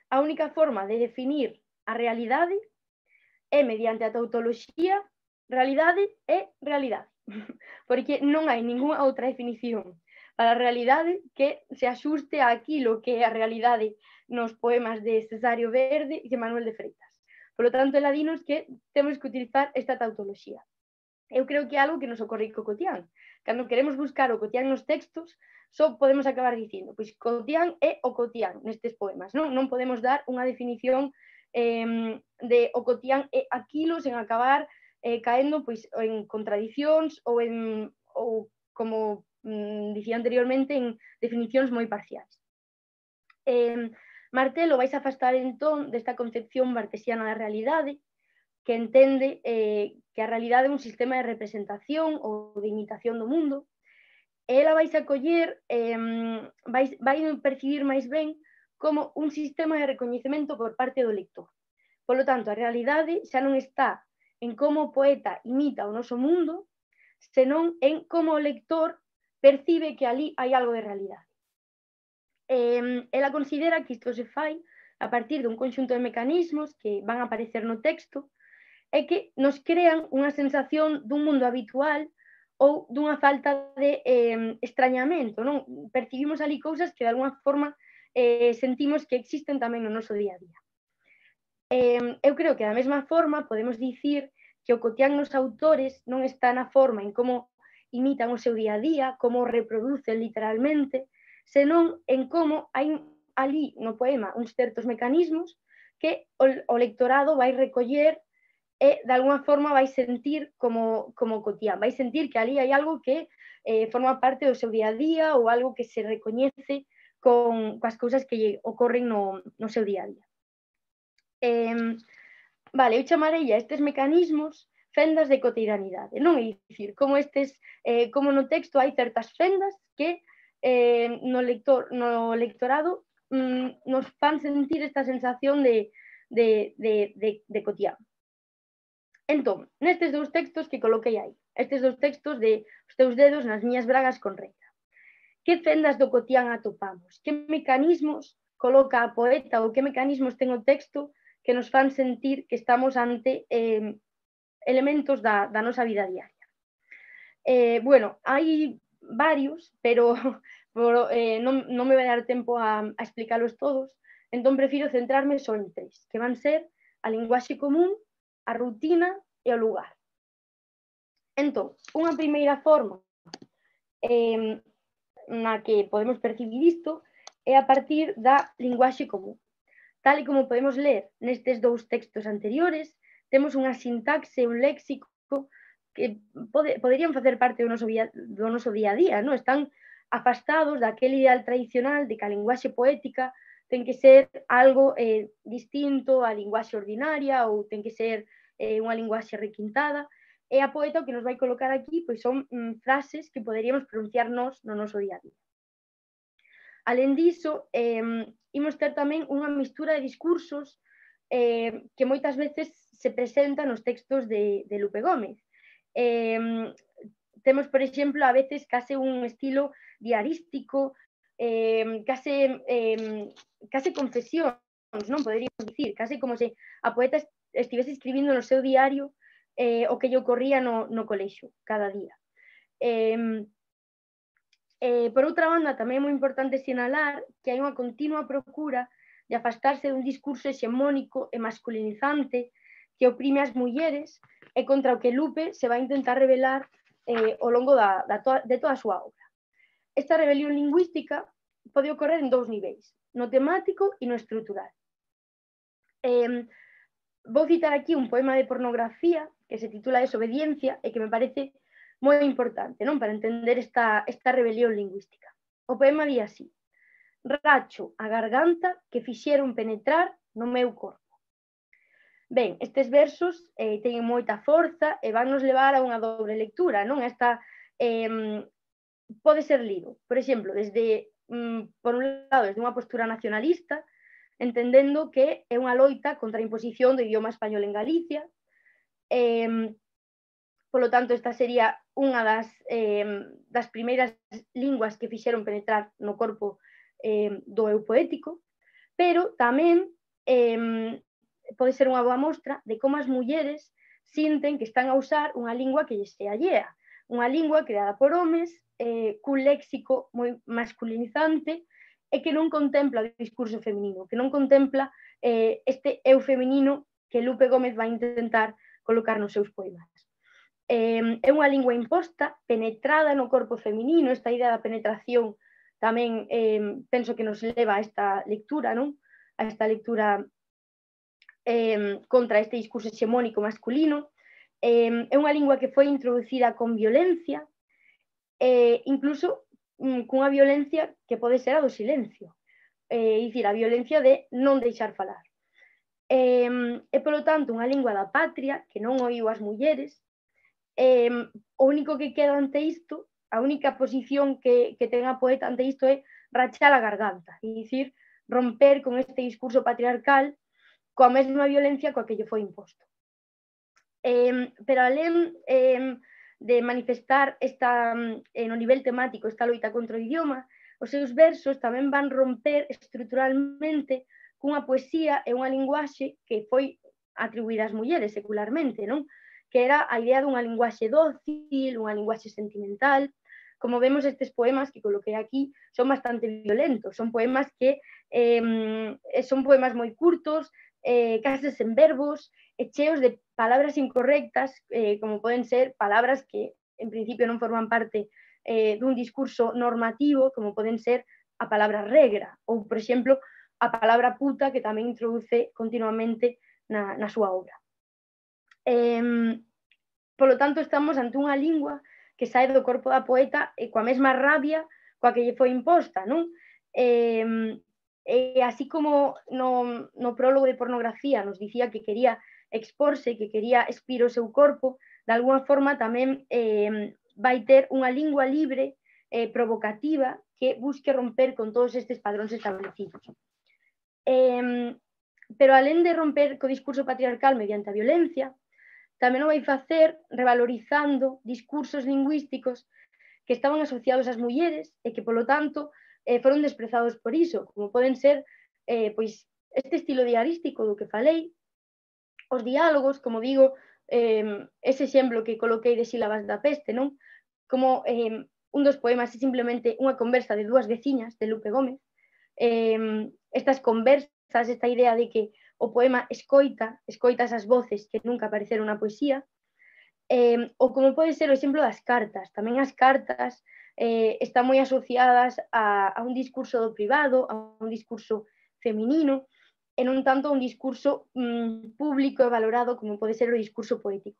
a única forma de definir a realidade é mediante a tautoloxía, realidade é realidade, porque non hai ninguna outra definición para a realidade que se axuste a aquilo que é a realidade nos poemas de Cesario Verde e de Manuel de Freitas. Por lo tanto, ela dinos que temos que utilizar esta tautoloxía. Eu creo que é algo que nos ocorre co Cotián. Cando queremos buscar o Cotián nos textos, só podemos acabar dicindo, pois Cotián é o Cotián nestes poemas, non? Non podemos dar unha definición eh, de o Cotián é aquilo sen acabar eh, caendo pois, en contradicións ou, en, ou como mm, dicía anteriormente, en definicións moi parciais. Eh, Martelo vais a afastar entón desta concepción bartesiana da realidade, que entende eh, que a realidade é un sistema de representación ou de imitación do mundo, e ela vais a coller, eh, vais, vai percibir máis ben como un sistema de recoñecemento por parte do lector. Por lo tanto, a realidade xa non está en como o poeta imita o noso mundo, senón en como o lector percibe que ali hai algo de realidade. Eh, ela considera que isto se fai a partir dun conxunto de mecanismos que van a aparecer no texto e que nos crean unha sensación dun mundo habitual ou dunha falta de eh, extrañamento, non? Percibimos ali cousas que de alguna forma eh, sentimos que existen tamén no noso día a día. Eh, eu creo que da mesma forma podemos dicir que o Cotián nos autores non está na forma en como imitan o seu día a día, como o reproducen literalmente, senón en como hai ali no poema uns certos mecanismos que o, o lectorado vai recoller e de alguna forma vai sentir como, como Cotián, vai sentir que ali hai algo que eh, forma parte do seu día a día ou algo que se recoñece con, coas cousas que lle ocorren no, no seu día a día. Eh, vale, eu chamarei a estes mecanismos fendas de cotidianidade, non? É dicir, como, estes, eh, como no texto hai certas fendas que eh, no, lector, no lectorado mm, nos fan sentir esta sensación de, de, de, de, de Cotián. Entón, nestes dous textos que coloquei aí, estes dous textos de Os teus dedos nas miñas bragas con reita, que fendas do Cotián atopamos? Que mecanismos coloca a poeta ou que mecanismos ten o texto que nos fan sentir que estamos ante eh, elementos da, da nosa vida diaria? Eh, bueno, hai varios, pero por, eh, non, non me vai dar tempo a, a explicalos todos, entón prefiro centrarme só en tres, que van ser a linguaxe común, a rutina e o lugar. Entón, unha primeira forma eh, na que podemos percibir isto é a partir da linguaxe común. Tal e como podemos ler nestes dous textos anteriores, temos unha sintaxe e un léxico que pode, poderían facer parte do noso, vía, do noso día a día, non? Están afastados daquele ideal tradicional de que a linguaxe poética ten que ser algo eh, distinto á linguaxe ordinaria ou ten que ser eh, unha linguaxe requintada, e a poeta o que nos vai colocar aquí pois son mm, frases que poderíamos pronunciar nós no noso día a día. Alén diso, eh, imos ter tamén unha mistura de discursos eh, que moitas veces se presenta nos textos de, de Lupe Gómez. Eh, temos, por exemplo, a veces case un estilo diarístico, eh, case, eh, case confesións, non poderíamos dicir, case como se a poeta estivese escribindo no seu diario eh, o que lle ocorría no, no colexio cada día. Eh, eh, por outra banda, tamén é moi importante sinalar que hai unha continua procura de afastarse dun discurso hexemónico e masculinizante que oprime as mulleres e contra o que Lupe se vai intentar revelar eh, ao longo da, da toa, de toda a súa obra. Esta rebelión lingüística pode ocorrer en dous niveis, no temático e no estrutural. Eh, vou citar aquí un poema de pornografía que se titula Desobediencia e que me parece moi importante, non? Para entender esta, esta rebelión lingüística. O poema di así: racho a garganta que fixeron penetrar no meu corpo. Ben, estes versos eh, teñen moita forza e van nos levar a unha dobre lectura, non? Esta eh, pode ser lido, por exemplo, desde, mm, por un lado, desde unha postura nacionalista, entendendo que é unha loita contra a imposición do idioma español en Galicia, Eh, polo tanto, esta sería unha das, eh, das primeiras linguas que fixeron penetrar no corpo eh, do eu poético, pero tamén eh, pode ser unha boa mostra de como as mulleres sinten que están a usar unha lingua que lles é allea, unha lingua creada por homes, eh, cun léxico moi masculinizante e que non contempla o discurso feminino, que non contempla eh, este eu feminino que Lupe Gómez vai intentar colocar nos seus poemas. Eh, é unha lingua imposta, penetrada no corpo feminino, esta idea da penetración tamén eh, penso que nos leva a esta lectura, non? A esta lectura eh, contra este discurso hexemónico masculino. Eh, é unha lingua que foi introducida con violencia, eh, incluso mm, cunha violencia que pode ser a do silencio, eh, é dicir, a violencia de non deixar falar. Eh, é, polo tanto, unha lingua da patria que non oíu as mulleres. Eh, o único que queda ante isto, a única posición que, que ten a poeta ante isto é rachar a garganta, é dicir, romper con este discurso patriarcal coa mesma violencia coa que lle foi imposto. Eh, pero alén eh, de manifestar esta, eh, no nivel temático esta loita contra o idioma, os seus versos tamén van romper estruturalmente cunha poesía e unha linguaxe que foi atribuída ás mulleres secularmente, non? Que era a idea dunha linguaxe dócil, unha linguaxe sentimental. Como vemos, estes poemas que coloquei aquí son bastante violentos, son poemas que eh, son poemas moi curtos, eh, case sen verbos, e cheos de palabras incorrectas, eh, como poden ser palabras que en principio non forman parte eh, dun discurso normativo, como poden ser a palabra regra, ou, por exemplo, a palabra puta, que tamén introduce continuamente na, na súa obra. Eh, polo tanto, estamos ante unha lingua que sae do corpo da poeta e coa mesma rabia coa que lle foi imposta, non? Eh, e así como no, no prólogo de Pornografía nos dicía que quería exporse, que quería expir o seu corpo, de alguna forma tamén eh, vai ter unha lingua libre, eh, provocativa, que busque romper con todos estes padróns establecidos. Eh, pero alén de romper co discurso patriarcal mediante a violencia, tamén o vai facer revalorizando discursos lingüísticos que estaban asociados ás mulleres e que, polo tanto, eh, foron desprezados por iso, como poden ser eh, pois, este estilo diarístico do que falei, os diálogos, como digo, eh, ese exemplo que coloquei de Sílabas da peste, non? Como eh, un dos poemas é simplemente unha conversa de dúas veciñas de Lupe Gómez, eh, estas conversas, esta idea de que o poema escoita, escoita esas voces que nunca apareceron na poesía, eh, ou como pode ser o exemplo das cartas. Tamén as cartas eh, están moi asociadas a, a un discurso do privado, a un discurso feminino, e non tanto a un discurso mm, público e valorado como pode ser o discurso poético.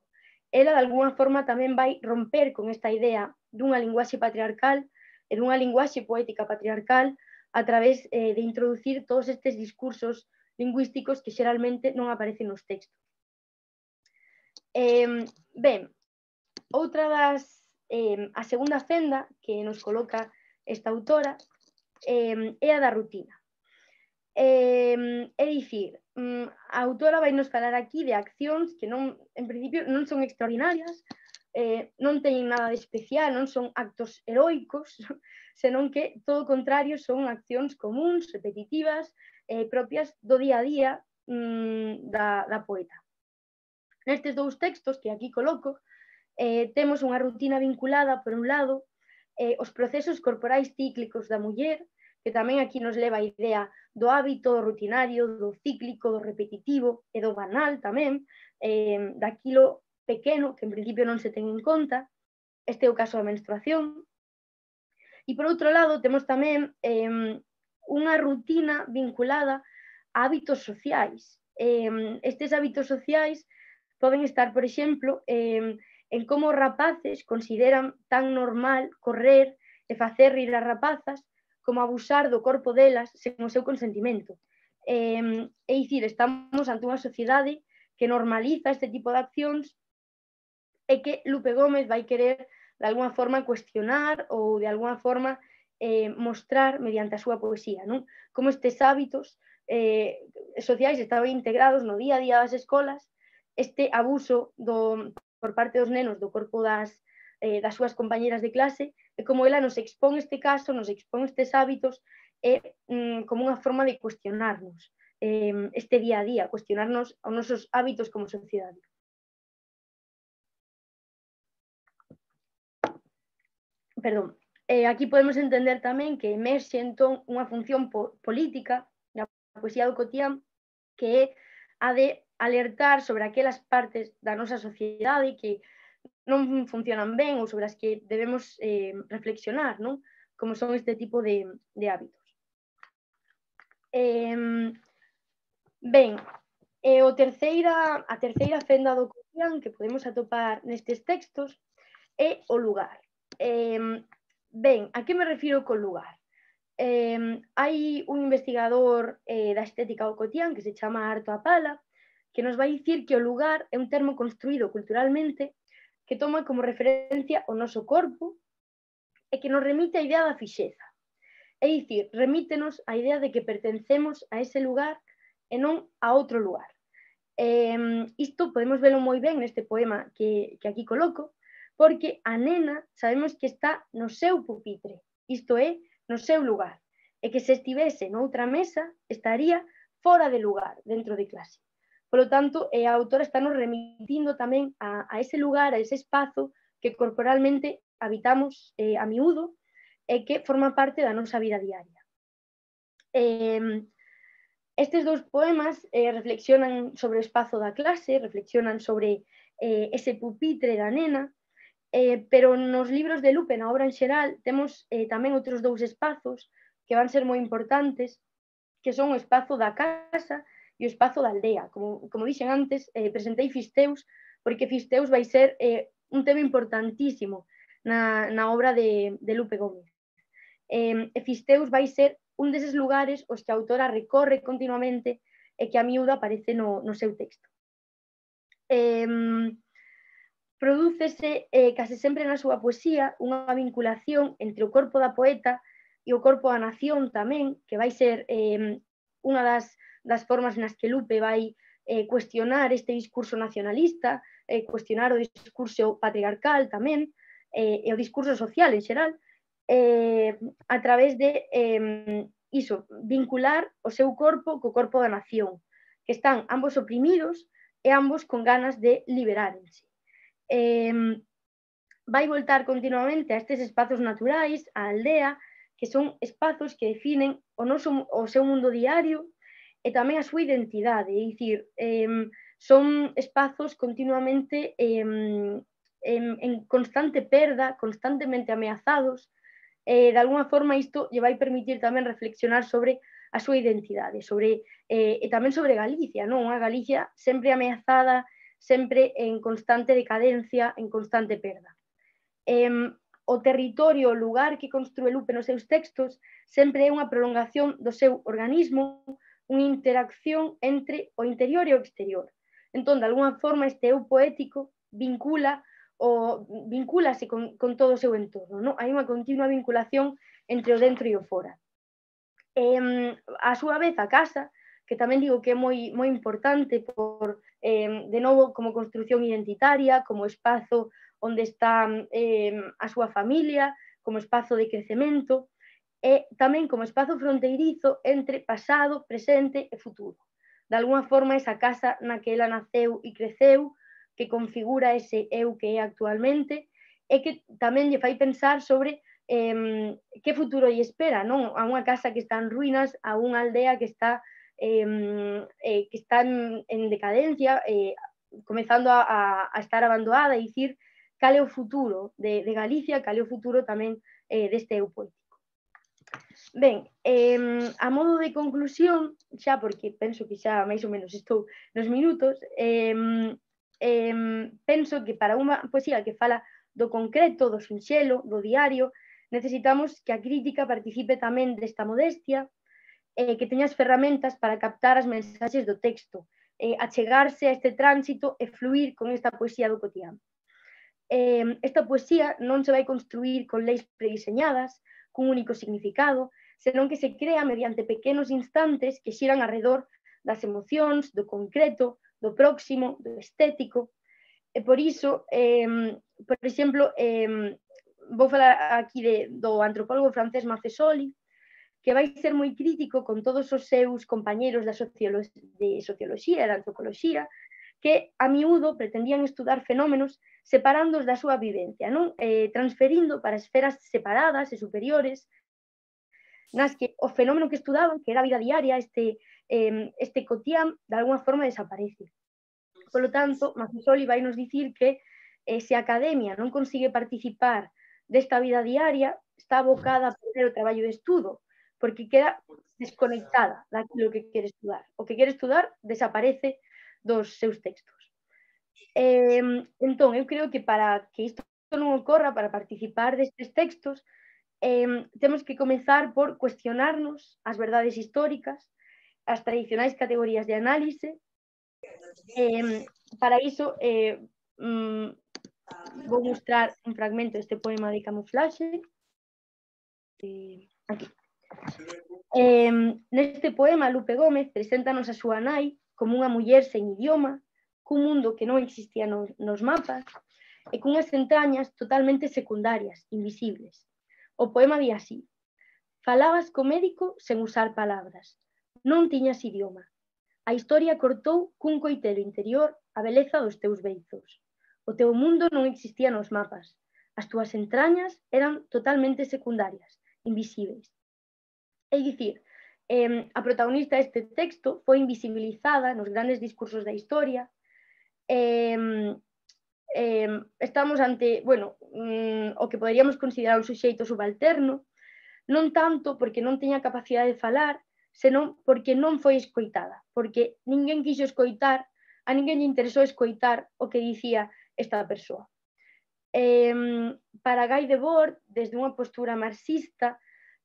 Ela, de alguna forma, tamén vai romper con esta idea dunha linguaxe patriarcal e dunha linguaxe poética patriarcal a través eh, de introducir todos estes discursos lingüísticos que xeralmente non aparecen nos textos. Eh, ben, outra das, eh, a segunda fenda que nos coloca esta autora eh, é a da rutina. Eh, é dicir, a autora vai nos falar aquí de accións que non, en principio non son extraordinarias, eh, non teñen nada de especial, non son actos heroicos, senón que, todo o contrario, son accións comuns, repetitivas, eh, propias do día a día mm, da, da poeta. Nestes dous textos que aquí coloco, eh, temos unha rutina vinculada, por un lado, eh, os procesos corporais cíclicos da muller, que tamén aquí nos leva a idea do hábito, do rutinario, do cíclico, do repetitivo e do banal tamén, eh, daquilo pequeno que en principio non se ten en conta. Este é o caso da menstruación. E por outro lado temos tamén eh, unha rutina vinculada a hábitos sociais. Eh, estes hábitos sociais poden estar, por exemplo, eh, en como os rapaces consideran tan normal correr e facer rir as rapazas como abusar do corpo delas sen o seu consentimento. Eh, é dicir, estamos ante unha sociedade que normaliza este tipo de accións e que Lupe Gómez vai querer de alguna forma cuestionar ou de alguna forma eh, mostrar mediante a súa poesía, non? Como estes hábitos eh, sociais estaban integrados no día a día das escolas este abuso do, por parte dos nenos do corpo das, eh, das súas compañeras de clase, e como ela nos expón este caso, nos expón estes hábitos, é mm, como unha forma de cuestionarnos eh, este día a día, cuestionarnos os nosos hábitos como sociedade. Perdón. Eh, aquí podemos entender tamén que emerxe entón unha función po política na poesía do cotián, que é a de alertar sobre aquelas partes da nosa sociedade que non funcionan ben ou sobre as que debemos eh, reflexionar, non? Como son este tipo de, de hábitos. Eh, ben, eh, o terceira, a terceira fenda do cotián que podemos atopar nestes textos é o lugar. Eh, ben, a que me refiro co lugar? Eh, hai un investigador eh, da estética do cotián que se chama Arto Apala, que nos vai dicir que o lugar é un termo construído culturalmente que toma como referencia o noso corpo e que nos remite a idea da fixeza. É dicir, remítenos a idea de que pertencemos a ese lugar e non a outro lugar. Eh, isto podemos velo moi ben neste poema que, que aquí coloco, porque a nena sabemos que está no seu pupitre, isto é, no seu lugar, e que se estivese noutra mesa estaría fora de lugar dentro de clase. Por lo tanto, a autora está nos remitindo tamén a, a ese lugar, a ese espazo que corporalmente habitamos eh, a miúdo e que forma parte da nosa vida diaria. Eh, estes dous poemas eh, reflexionan sobre o espazo da clase, reflexionan sobre eh, ese pupitre da nena, eh, pero nos libros de Lupe, na obra en xeral, temos eh, tamén outros dous espazos que van ser moi importantes, que son o espazo da casa e o espazo da aldea. Como, como dixen antes, eh, presentei Fisteus, porque Fisteus vai ser eh, un tema importantísimo na, na obra de, de Lupe Gómez. Eh, Fisteus vai ser un deses lugares os que a autora recorre continuamente e que a miúda aparece no, no seu texto. Eh, Prodúcese eh, case sempre na súa poesía unha vinculación entre o corpo da poeta e o corpo da nación tamén, que vai ser eh, unha das, das formas nas que Lupe vai eh, cuestionar este discurso nacionalista, eh, cuestionar o discurso patriarcal tamén, eh, e o discurso social en xeral, eh, a través de eh, iso, vincular o seu corpo co corpo da nación, que están ambos oprimidos e ambos con ganas de liberárense. Eh, vai voltar continuamente a estes espazos naturais, a aldea, que son espazos que definen o, noso, o seu mundo diario e tamén a súa identidade, é dicir, eh, son espazos continuamente eh, en, en constante perda, constantemente ameazados, e de alguna forma isto lle vai permitir tamén reflexionar sobre a súa identidade, sobre, eh, e tamén sobre Galicia, non? Unha Galicia sempre ameazada, sempre en constante decadencia, en constante perda. Eh, o territorio, o lugar que construe Lupe nos seus textos sempre é unha prolongación do seu organismo, unha interacción entre o interior e o exterior. Entón, de alguna forma, este eu poético vincula o vincúlase con, con todo o seu entorno, non? Hai unha continua vinculación entre o dentro e o fora. Eh, a súa vez, a casa, que tamén digo que é moi, moi importante por, eh, de novo, como construción identitaria, como espazo onde está eh, a súa familia, como espazo de crecemento, e tamén como espazo fronteirizo entre pasado, presente e futuro. De alguna forma, esa casa na que ela naceu e creceu, que configura ese eu que é actualmente, e que tamén lle fai pensar sobre eh, que futuro lle espera, non? A unha casa que está en ruínas, a unha aldea que está, eh, eh, que está en, en decadencia, eh, comezando a, a, a estar abandonada, e dicir cal é o futuro de, de Galicia, cal é o futuro tamén eh, deste eu poético. Ben, eh, a modo de conclusión, xa porque penso que xa máis ou menos estou nos minutos, eh, eh, penso que para unha poesía que fala do concreto, do sinxelo, do diario, necesitamos que a crítica participe tamén desta modestia, eh, que teña as ferramentas para captar as mensaxes do texto, eh, achegarse a este tránsito e fluir con esta poesía do cotián. Eh, esta poesía non se vai construir con leis prediseñadas, cun único significado, senón que se crea mediante pequenos instantes que xiran alrededor das emocións, do concreto, do próximo, do estético. E por iso, eh, por exemplo, eh, vou falar aquí de, do antropólogo francés Maffesoli, que vai ser moi crítico con todos os seus compañeros da sociolo de socioloxía e da antropoloxía, que a miúdo pretendían estudar fenómenos separándoos da súa vivencia, non? Eh, transferindo para esferas separadas e superiores, nas que o fenómeno que estudaban, que era a vida diaria, este, eh, este cotián, de alguna forma desaparece. Por lo tanto, Maffesoli vai nos dicir que eh, se a academia non consigue participar desta vida diaria, está abocada a perder o traballo de estudo, porque queda desconectada daquilo que quere estudar. O que quere estudar desaparece dos seus textos. Eh, entón, eu creo que para que isto non ocorra, para participar destes textos, eh, temos que comezar por cuestionarnos as verdades históricas, as tradicionais categorías de análise. Eh, para iso, eh, mm, vou mostrar un fragmento deste poema de Camuflaxe. Eh, aquí. Eh, neste poema, Lupe Gómez preséntanos a súa nai como unha muller sen idioma, cun mundo que non existía nos, nos mapas, e cunhas entrañas totalmente secundarias, invisibles. O poema di así: falabas co médico sen usar palabras, non tiñas idioma. A historia cortou cun coitelo interior a beleza dos teus beizos. O teu mundo non existía nos mapas. As túas entrañas eran totalmente secundarias, invisibles. É dicir, eh, a protagonista deste texto foi invisibilizada nos grandes discursos da historia. Eh, eh, estamos ante, bueno, mm, o que poderíamos considerar un suxeito subalterno, non tanto porque non teña capacidade de falar, senón porque non foi escoitada, porque ninguén quixo escoitar, a ninguén lle interesou escoitar o que dicía esta persoa. Eh, para Guy Debord, desde unha postura marxista,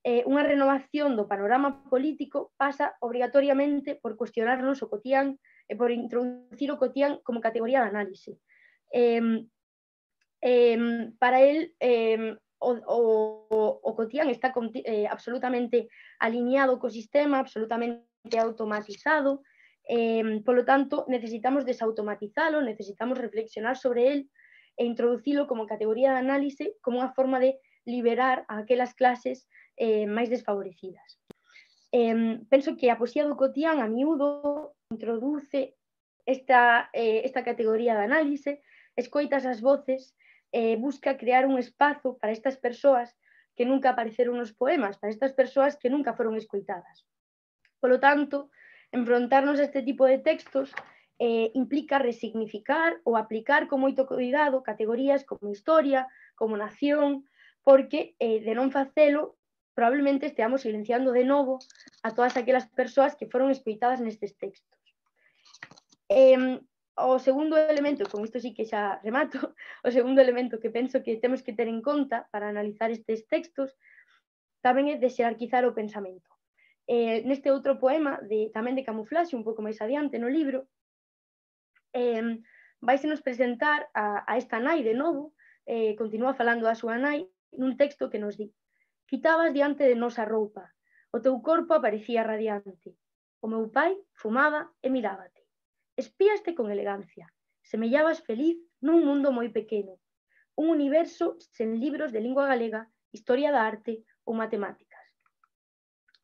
eh, unha renovación do panorama político pasa obrigatoriamente por cuestionarnos o cotián e por introducir o cotián como categoría de análise. Eh, eh, para él, eh, o, o, o cotián está eh, absolutamente alineado co sistema, absolutamente automatizado, eh, polo tanto, necesitamos desautomatizalo, necesitamos reflexionar sobre él e introducilo como categoría de análise, como unha forma de liberar a aquelas clases eh, máis desfavorecidas. Eh, penso que a poesía do cotián a miúdo introduce esta, eh, esta categoría de análise, escoitas as voces, eh, busca crear un espazo para estas persoas que nunca apareceron nos poemas, para estas persoas que nunca foron escoitadas. Por lo tanto, enfrontarnos a este tipo de textos eh, implica resignificar ou aplicar con moito cuidado categorías como historia, como nación, porque eh, de non facelo probablemente esteamos silenciando de novo a todas aquelas persoas que foron escoitadas nestes textos. Eh, o segundo elemento, con isto sí que xa remato, o segundo elemento que penso que temos que ter en conta para analizar estes textos tamén é xerarquizar o pensamento. Eh, neste outro poema, de, tamén de Camuflaxe, un pouco máis adiante no libro, eh, vai se nos presentar a, a esta nai de novo, eh, continúa falando da súa nai, nun texto que nos di: quitabas diante de nos a roupa, o teu corpo aparecía radiante, o meu pai fumaba e mirábate. Espíaste con elegancia, semellabas feliz nun mundo moi pequeno, un universo sen libros de lingua galega, historia da arte ou matemáticas.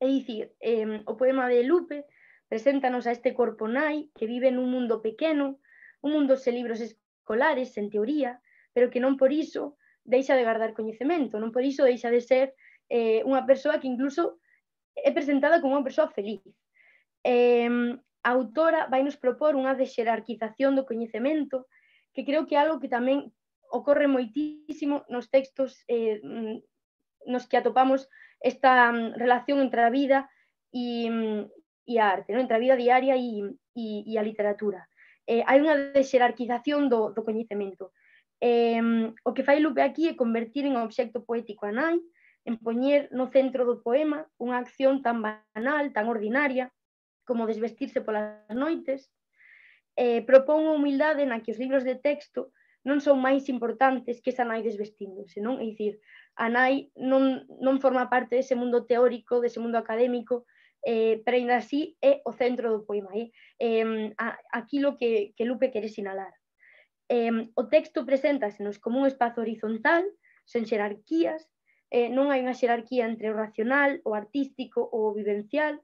É dicir, eh, o poema de Lupe preséntanos a este corpo nai que vive nun mundo pequeno, un mundo sen libros escolares, sen teoría, pero que non por iso deixa de guardar coñecemento, non por iso deixa de ser eh, unha persoa que incluso é presentada como unha persoa feliz. Eh, a autora vai nos propor unha desxerarquización do coñecemento que creo que é algo que tamén ocorre moitísimo nos textos eh, nos que atopamos esta relación entre a vida e, e a arte, non? Entre a vida diaria e, e, e a literatura. Eh, hai unha desxerarquización do, do coñecemento. Eh, o que fai Lupe aquí é convertir en obxecto poético a nai, en poñer no centro do poema unha acción tan banal, tan ordinaria, como desvestirse polas noites, eh, propón unha humildade na que os libros de texto non son máis importantes que esa nai desvestíndose, non? É dicir, a nai non, non forma parte dese mundo teórico, dese mundo académico, eh, pero ainda así é o centro do poema, é eh, aquilo que, que Lupe quere sinalar. Eh, o texto preséntasenos como un espazo horizontal, sen xerarquías, eh, non hai unha xerarquía entre o racional, o artístico ou o vivencial,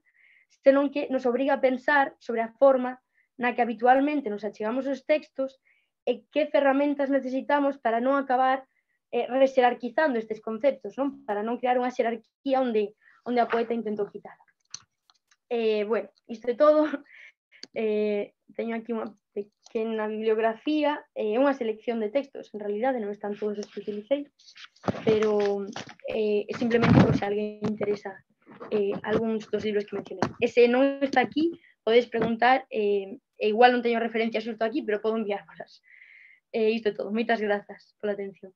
senón que nos obriga a pensar sobre a forma na que habitualmente nos achegamos os textos e que ferramentas necesitamos para non acabar eh, rexerarquizando estes conceptos, non? Para non crear unha xerarquía onde, onde a poeta intentou quitar. Eh, bueno, isto é todo. Eh, teño aquí unha pequena bibliografía, é eh, unha selección de textos, en realidade non están todos os que utilicei, pero eh, simplemente por se alguén interesa eh, algúns dos libros que mencionei. E se non está aquí, podes preguntar, eh, e igual non teño referencia xusto aquí, pero podo enviármolas. Eh, isto é todo. Moitas grazas pola atención.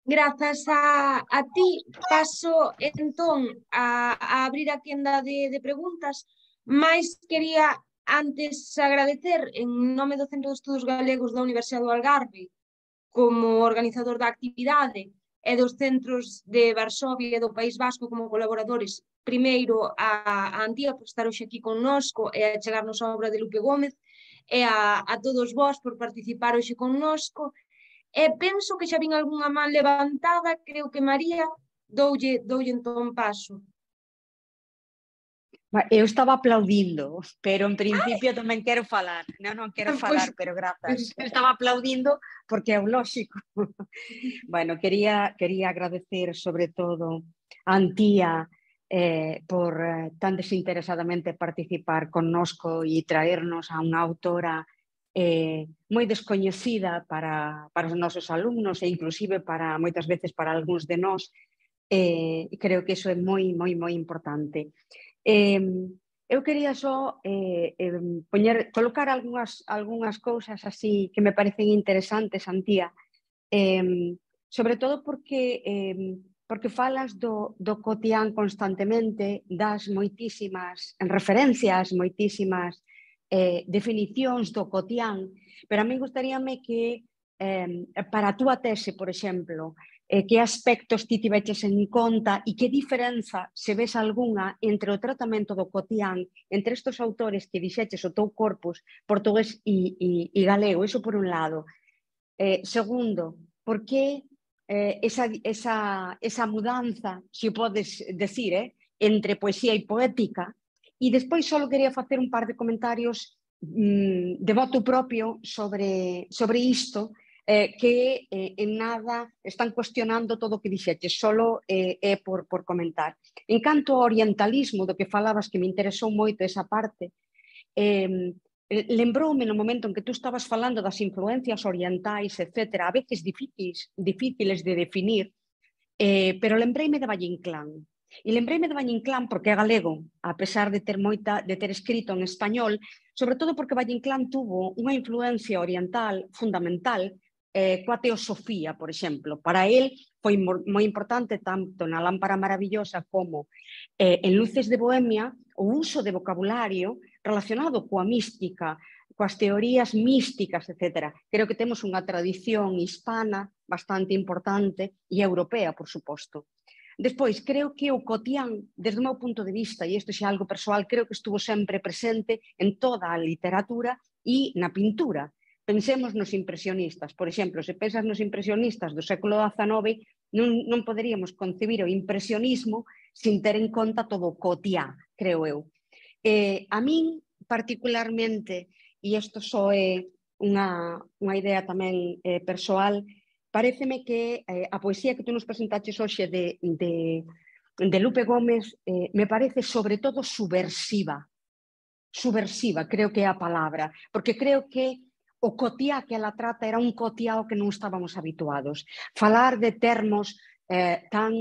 Grazas a, a ti. Paso entón a, a abrir a quenda de, de preguntas, mais quería antes agradecer en nome do Centro de Estudos Galegos da Universidade do Algarve como organizador da actividade e dos centros de Varsovia e do País Vasco como colaboradores, primeiro a, a Antía por estar hoxe aquí connosco e a chegarnos a obra de Lupe Gómez, e a, a todos vós por participar hoxe connosco. E penso que xa vin algunha man levantada, creo que María, doulle, doulle entón paso. Eu estaba aplaudindo, pero en principio Ay. tamén quero falar. Non, non quero falar, pues, pero grazas. Pues, estaba aplaudindo porque é o lóxico. Bueno, quería, quería agradecer sobre todo a Antía eh, por eh, tan desinteresadamente participar connosco e traernos a unha autora eh, moi descoñecida para, para os nosos alumnos e inclusive para moitas veces para algúns de nós. Eh, creo que iso é moi, moi, moi importante. Eh, eu quería só eh, eh, poñer, colocar algunhas, algunhas cousas así que me parecen interesantes, Antía, eh, sobre todo porque, eh, porque falas do, do cotián constantemente, das moitísimas referencias, moitísimas eh, definicións do cotián, pero a mí gustaríame que eh, para a túa tese, por exemplo, Eh, que aspectos ti tiveches en conta e que diferenza, se ves algunha, entre o tratamento do cotián, entre estes autores que dixeches o teu corpus, portugués e, e, e galego, iso por un lado. Eh, segundo, por que eh, esa, esa, esa mudanza, se o podes decir, eh, entre poesía e poética? E despois só quería facer un par de comentarios mm, de voto propio sobre, sobre isto, Eh, que eh, en nada están cuestionando todo o que dixeches, solo é eh, por, por comentar. En canto ao orientalismo do que falabas, que me interesou moito esa parte, eh, lembroume no momento en que tú estabas falando das influencias orientais, etcétera, a veces difíciles, difíciles de definir, eh, pero lembreime de Valle Inclán. E lembreime de Valle Inclán porque é galego, a pesar de ter moita, de ter escrito en español, sobre todo porque Valle Inclán tuvo unha influencia oriental fundamental Eh, coa teosofía, por exemplo. Para él foi moi importante tanto na Lámpara Maravillosa como eh, en Luces de Bohemia o uso de vocabulario relacionado coa mística, coas teorías místicas, etcétera. Creo que temos unha tradición hispana bastante importante e europea, por suposto. Despois, creo que o cotián, desde o meu punto de vista, e isto xa é algo persoal, creo que estuvo sempre presente en toda a literatura e na pintura. Pensemos nos impresionistas. Por exemplo, se pensas nos impresionistas do século dezanove, non, non poderíamos concebir o impresionismo sin ter en conta todo o cotiá, creo eu. Eh, a min, particularmente, e isto só é unha, unha idea tamén eh, persoal, pareceme que eh, a poesía que tú nos presentaches hoxe de, de, de Lupe Gómez eh, me parece sobre todo subversiva. Subversiva, creo que é a palabra, porque creo que o cotiá que ela trata era un cotiá ao que non estábamos habituados. Falar de termos eh, tan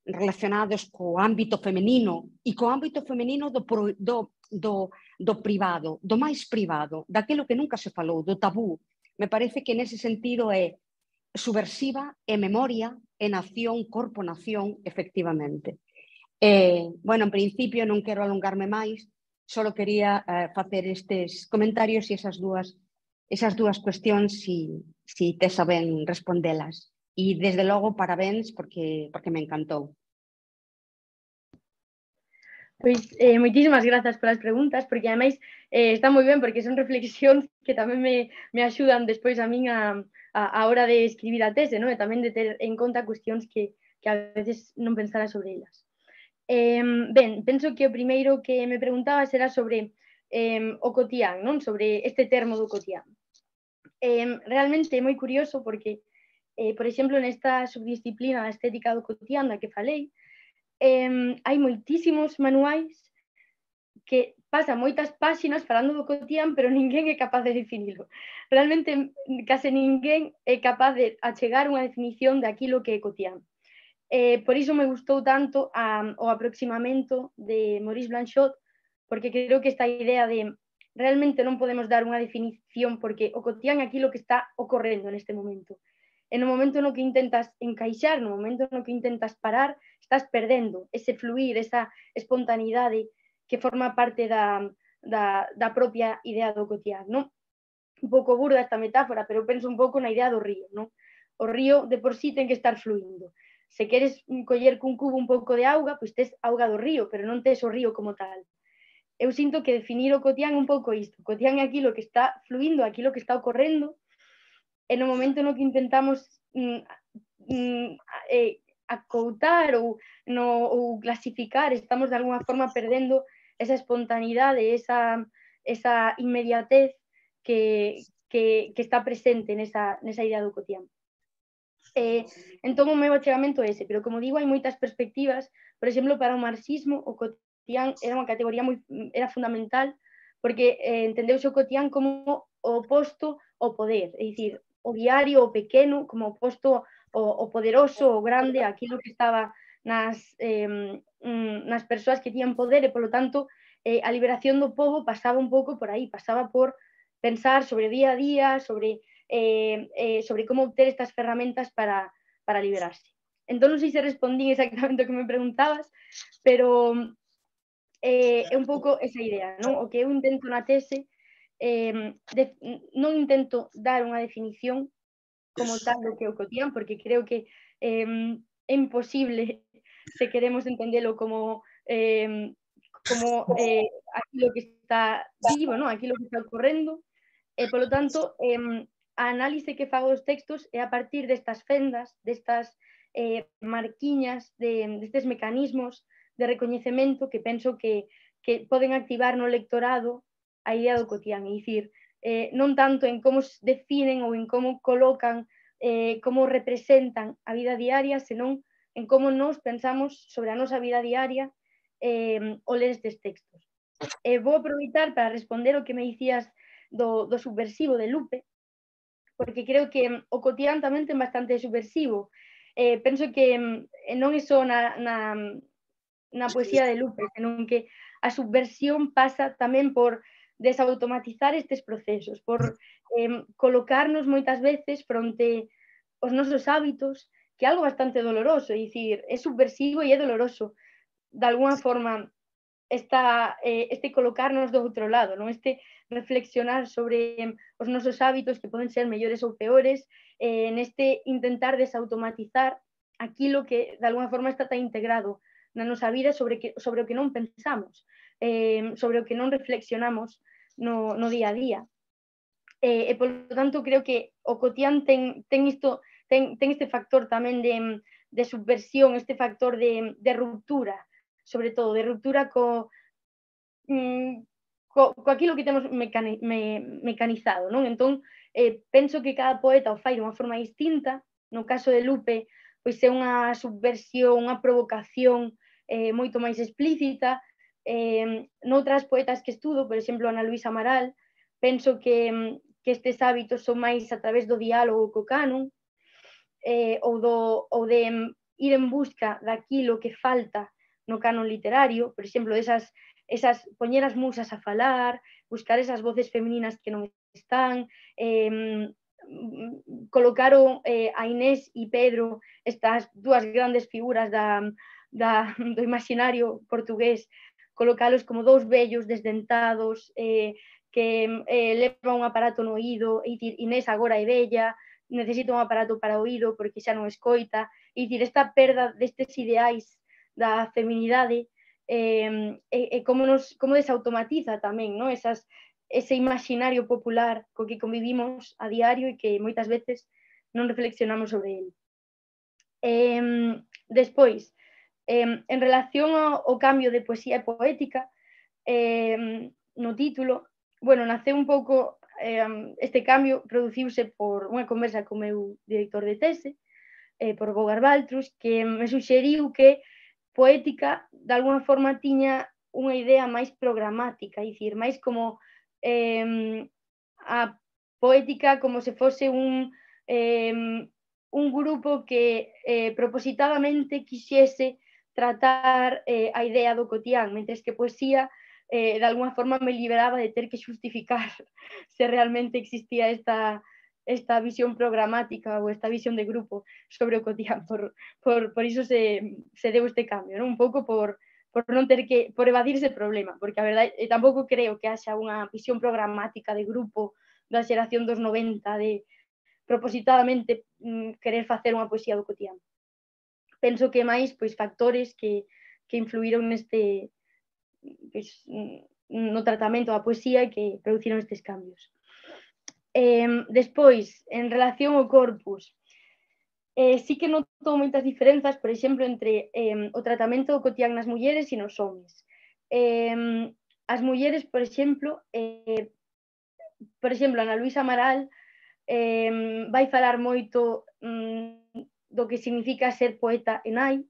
relacionados co ámbito femenino e co ámbito femenino do, do, do, do privado, do máis privado, daquilo que nunca se falou, do tabú. Me parece que nese sentido é subversiva, é memoria, é nación, corpo-nación, efectivamente. Eh, bueno, en principio non quero alongarme máis, só quería eh, facer estes comentarios e esas dúas esas dúas cuestións si, si te saben respondelas. E, desde logo, parabéns porque, porque me encantou. Pois eh, moitísimas grazas polas preguntas, porque ademais eh, está moi ben, porque son reflexións que tamén me, me axudan despois a min a, a, a hora de escribir a tese, non? E tamén de ter en conta cuestións que, que a veces non pensara sobre elas. Eh, ben, penso que o primeiro que me preguntabas era sobre eh, o cotián, non? Sobre este termo do cotián. Eh, realmente é moi curioso porque, eh, por exemplo, nesta subdisciplina da estética do cotián da que falei, eh, hai moitísimos manuais que pasan moitas páxinas falando do cotián, pero ninguén é capaz de definilo. Realmente, case ninguén é capaz de achegar unha definición de aquilo que é cotián. Eh, por iso me gustou tanto a, o aproximamento de Maurice Blanchot, porque creo que esta idea de realmente non podemos dar unha definición porque o cotián é aquilo que está ocorrendo neste momento. E no momento no que intentas encaixar, no momento no que intentas parar, estás perdendo ese fluir, esa espontaneidade que forma parte da, da, da propia idea do cotián, non? Un pouco burda esta metáfora, pero penso un pouco na idea do río, non? O río de por sí ten que estar fluindo. Se queres coller cun cubo un pouco de auga, pois tes auga do río, pero non tes o río como tal. Eu sinto que definir o cotián un pouco isto. O cotián é aquilo que está fluindo, aquilo que está ocorrendo, e no momento no que intentamos mm, mm, eh, acoutar ou, no, ou clasificar, estamos de alguna forma perdendo esa espontaneidade, esa, esa inmediatez que, que, que está presente nesa, nesa idea do cotián. Eh, entón o meu achegamento é ese, pero como digo, hai moitas perspectivas. Por exemplo, para o marxismo, o cotián era unha categoría moi, era fundamental, porque eh, entendeuse o cotián como o oposto ao poder, é dicir, o diario, o pequeno, como oposto o, o poderoso, o grande, aquilo que estaba nas, eh, nas persoas que tiñan poder, e, polo tanto, eh, a liberación do povo pasaba un pouco por aí, pasaba por pensar sobre o día a día, sobre, eh, eh, sobre como obter estas ferramentas para, para liberarse. Entón, non sei se respondí exactamente o que me preguntabas, pero eh, é un pouco esa idea, non? O que eu intento na tese, eh, de, non intento dar unha definición como tal do que é o cotián, porque creo que eh, é imposible se queremos entendelo como eh, como eh, aquilo que está vivo, non? Aquilo que está ocorrendo, e, polo tanto, eh, a análise que fago dos textos é a partir destas fendas, destas eh, marquiñas, de, destes mecanismos de recoñecemento que penso que, que poden activar no lectorado a idea do cotián, é dicir, eh, non tanto en como definen ou en como colocan, eh, como representan a vida diaria, senón en como nos pensamos sobre a nosa vida diaria eh, ao ler estes textos. Eh, vou aproveitar para responder o que me dicías do, do subversivo de Lupe, porque creo que o cotián tamén ten bastante subversivo. Eh, penso que non é só na, na, na poesía de Lupe, senón que a subversión pasa tamén por desautomatizar estes procesos, por eh, colocarnos moitas veces fronte aos nosos hábitos, que é algo bastante doloroso, é dicir, é subversivo e é doloroso, de alguna forma, esta, eh, este colocarnos do outro lado, non? Este reflexionar sobre os nosos hábitos que poden ser mellores ou peores, eh, neste intentar desautomatizar aquilo que de alguna forma está tan integrado na nosa vida sobre, que, sobre o que non pensamos, eh, sobre o que non reflexionamos no, no día a día. Eh, e, polo tanto, creo que o cotián ten, ten, isto, ten, ten este factor tamén de, de subversión, este factor de, de ruptura, sobre todo, de ruptura co, mm, co, co aquilo que temos mecani, me, mecanizado, non? Entón, eh, penso que cada poeta o fai de unha forma distinta. No caso de Lupe, pois é unha subversión, unha provocación eh, moito máis explícita. Eh, noutras poetas que estudo, por exemplo, Ana Luisa Amaral, penso que, que estes hábitos son máis a través do diálogo co canon, eh, ou, do, ou de ir en busca daquilo que falta no canon literario, por exemplo, esas, esas poñer as musas a falar, buscar esas voces femininas que non están, eh, colocaron eh, a Inés e Pedro, estas dúas grandes figuras da, da, do imaginario portugués, colocalos como dous vellos desdentados, eh, que eh, levan un aparato no oído, e dicir, Inés agora é vella, necesita un aparato para o oído porque xa non escoita, e dicir, esta perda destes ideais da feminidade eh, e, e como, nos, como desautomatiza tamén, no? Esas, ese imaginario popular co que convivimos a diario e que moitas veces non reflexionamos sobre ele. Eh, despois, eh, en relación ao, ao cambio de poesía e poética, eh, no título, bueno, naceu un pouco, eh, este cambio produciuse por unha conversa co meu director de tese, eh, por Bogar Baltrus, que me suxeriu que poética, de alguna forma, tiña unha idea máis programática, é dicir, máis como eh, a poética como se fose un, eh, un grupo que eh, propositadamente quixese tratar eh, a idea do cotián, mentres que poesía eh, de alguna forma me liberaba de ter que justificar se realmente existía esta, esta visión programática ou esta visión de grupo sobre o cotián. Por, por, por iso se, se deu este cambio, ¿no? Un pouco por, por non ter que, por evadir ese problema, porque a verdade, eh, tampouco creo que haxa unha visión programática de grupo da xeración dos noventa de propositadamente mm, querer facer unha poesía do cotián. Penso que máis pois, factores que, que influíron neste pois, no tratamento da poesía e que produciron estes cambios. Eh, despois, en relación ao corpus, eh, sí que noto moitas diferenzas, por exemplo, entre eh, o tratamento do cotián nas mulleres e nos homes. Eh, as mulleres, por exemplo, eh, por exemplo, Ana Luisa Amaral eh, vai falar moito mm, do que significa ser poeta e nai,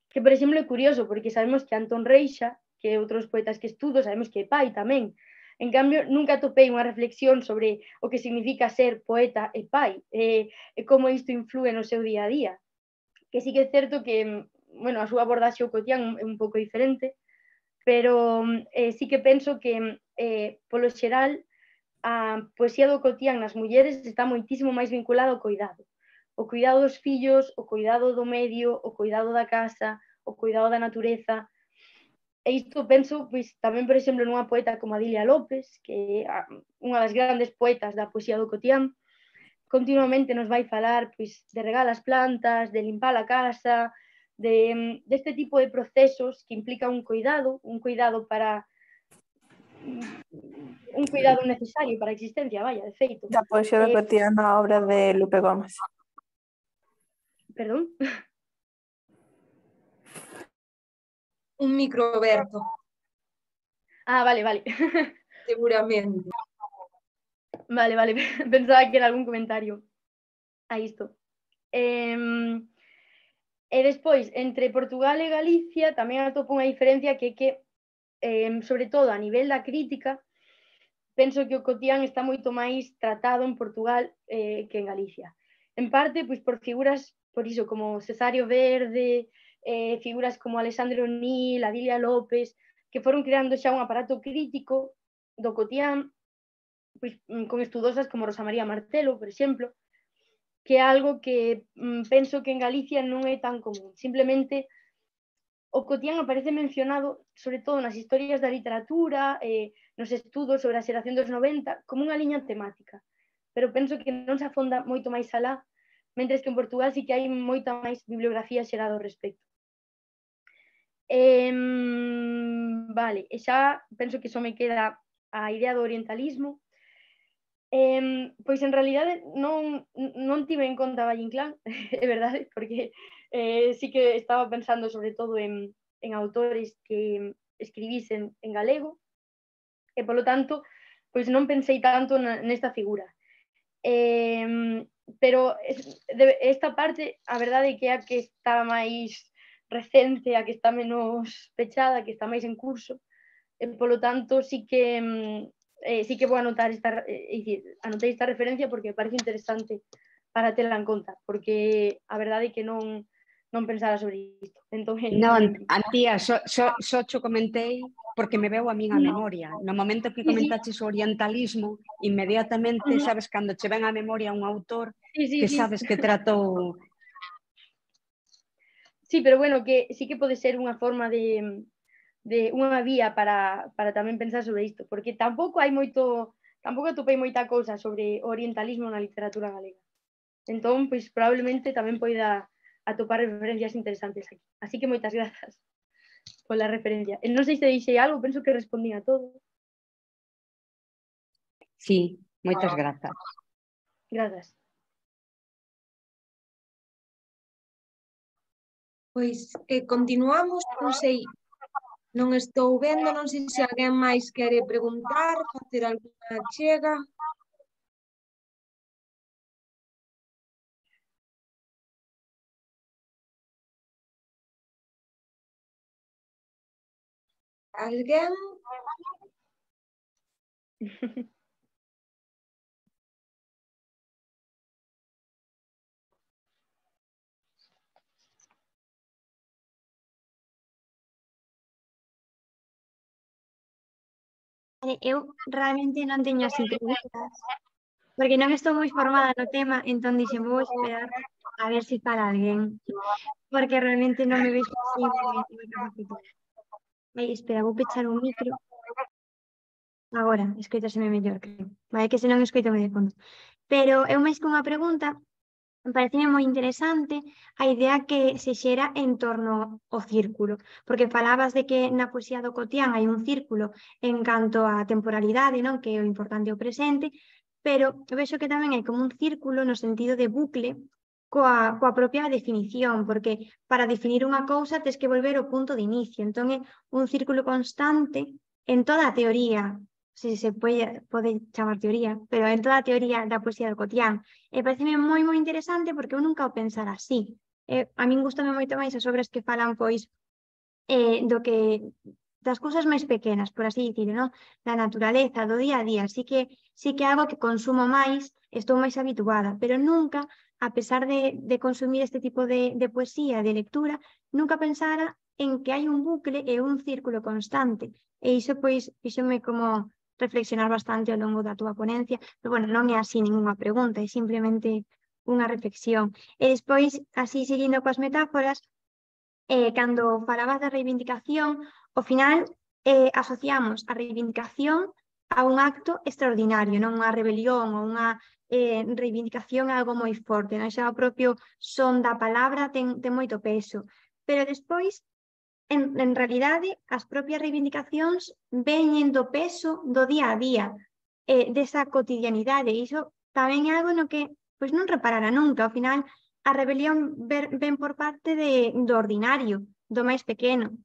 que, por exemplo, é curioso, porque sabemos que Antón Reixa, que outros poetas que estudo, sabemos que é pai tamén. En cambio, nunca topei unha reflexión sobre o que significa ser poeta e pai, e, e como isto influe no seu día a día. Que sí que é certo que, bueno, a súa abordaxe ao cotián é un pouco diferente, pero eh, sí que penso que, eh, polo xeral, a poesía do cotián nas mulleres está moitísimo máis vinculada ao cuidado. O cuidado dos fillos, o cuidado do medio, o cuidado da casa, o cuidado da natureza. E isto penso, pois, tamén, por exemplo, nunha poeta como Adilia López, que é unha das grandes poetas da poesía do cotián, continuamente nos vai falar pois, de regar as plantas, de limpar a casa, de, deste tipo de procesos que implica un cuidado, un cuidado para un cuidado necesario para a existencia, vaya, de feito. Da poesía do cotián na obra de Lupe Gómez. Perdón? Un micro aberto. Ah, vale, vale. Seguramente. Vale, vale, pensaba que era algún comentario a isto. Eh, e despois, entre Portugal e Galicia tamén atopo unha diferencia que é que, eh, sobre todo a nivel da crítica, penso que o cotián está moito máis tratado en Portugal eh, que en Galicia. En parte, pois, por figuras, por iso, como Cesario Verde, eh, figuras como Alexandre O'Neill, Adilia López, que foron creando xa un aparato crítico do cotián, pois, con estudosas como Rosa María Martelo, por exemplo, que é algo que mm, penso que en Galicia non é tan común. Simplemente, o cotián aparece mencionado, sobre todo nas historias da literatura, eh, nos estudos sobre a xeración dos noventa, como unha liña temática. Pero penso que non se afonda moito máis alá, mentres que en Portugal sí que hai moita máis bibliografía xerada ao respecto. Eh, vale, e xa penso que só me queda a idea do orientalismo. Eh, pois en realidade non, non tive en conta Valle Inclán, é verdade, porque eh, sí que estaba pensando sobre todo en, en autores que escribisen en galego, e polo tanto, pois non pensei tanto na, nesta figura. Eh, pero esta parte, a verdade é que é a que está máis recente, a que está menos pechada, que está máis en curso, e polo tanto sí que eh, sí que vou anotar esta, eh, dicir, anotei esta referencia porque me parece interesante para tela en conta, porque a verdade é que non non pensara sobre isto. Entón, non, Antía, só so, so, so cho comentei porque me veu a min a memoria. No momento que comentaches o orientalismo, inmediatamente, sabes, cando che ven a memoria un autor sí, sí, que sí. sabes que tratou... Sí, pero bueno, que sí que pode ser unha forma de, de unha vía para, para tamén pensar sobre isto, porque tampouco hai moito, tampouco atopei moita cousa sobre o orientalismo na literatura galega. Entón, pois probablemente tamén poida atopar referencias interesantes aquí. Así que moitas grazas. pola referencia. E non sei se deixei algo, penso que respondín a todo. Sí, moitas grazas. Grazas. Pois eh, continuamos, non sei, non estou vendo, non sei se alguén máis quere preguntar, facer alguna chega. Alguén? Eu realmente non teño así preguntas, porque non estou moi formada no tema, entón dixen, vou esperar a ver se para alguén, porque realmente non me vexo así moi capacitada. Ai, espera, vou pechar o micro. Agora, escoitaseme mellor, creo. Vai, que se non escoito de fondo. Pero eu máis que unha pregunta, pareceme moi interesante a idea que se xera en torno ao círculo, porque falabas de que na poesía do Cotián hai un círculo en canto á temporalidade, non, que é o importante o presente, pero vexo que tamén hai como un círculo no sentido de bucle coa, coa propia definición, porque para definir unha cousa tes que volver ao punto de inicio, entón é un círculo constante en toda a teoría, se se pode, pode chamar teoría, pero en toda a teoría da poesía do Cotián. E pareceme moi, moi interesante porque eu nunca o pensara así. Eh, a min gustame moito máis as obras que falan, pois, eh, do que das cousas máis pequenas, por así dicirlo, non? Da naturaleza, do día a día. Así que sí que é algo que consumo máis, estou máis habituada, pero nunca, a pesar de, de consumir este tipo de, de poesía, de lectura, nunca pensara en que hai un bucle e un círculo constante. E iso, pois, fíxome como reflexionar bastante ao longo da túa ponencia, pero, bueno, non é así ningunha pregunta, é simplemente unha reflexión. E despois, así, seguindo coas metáforas, eh, cando falabas da reivindicación, ao final eh, asociamos a reivindicación a un acto extraordinario, non unha rebelión ou unha eh, reivindicación a algo moi forte, non? Xa o propio son da palabra ten, ten moito peso. Pero despois, en, en realidade, as propias reivindicacións veñen do peso do día a día, eh, desa cotidianidade. E iso tamén é algo no que pois non reparara nunca. Ao final, a rebelión ver, ven por parte de, do ordinario, do máis pequeno.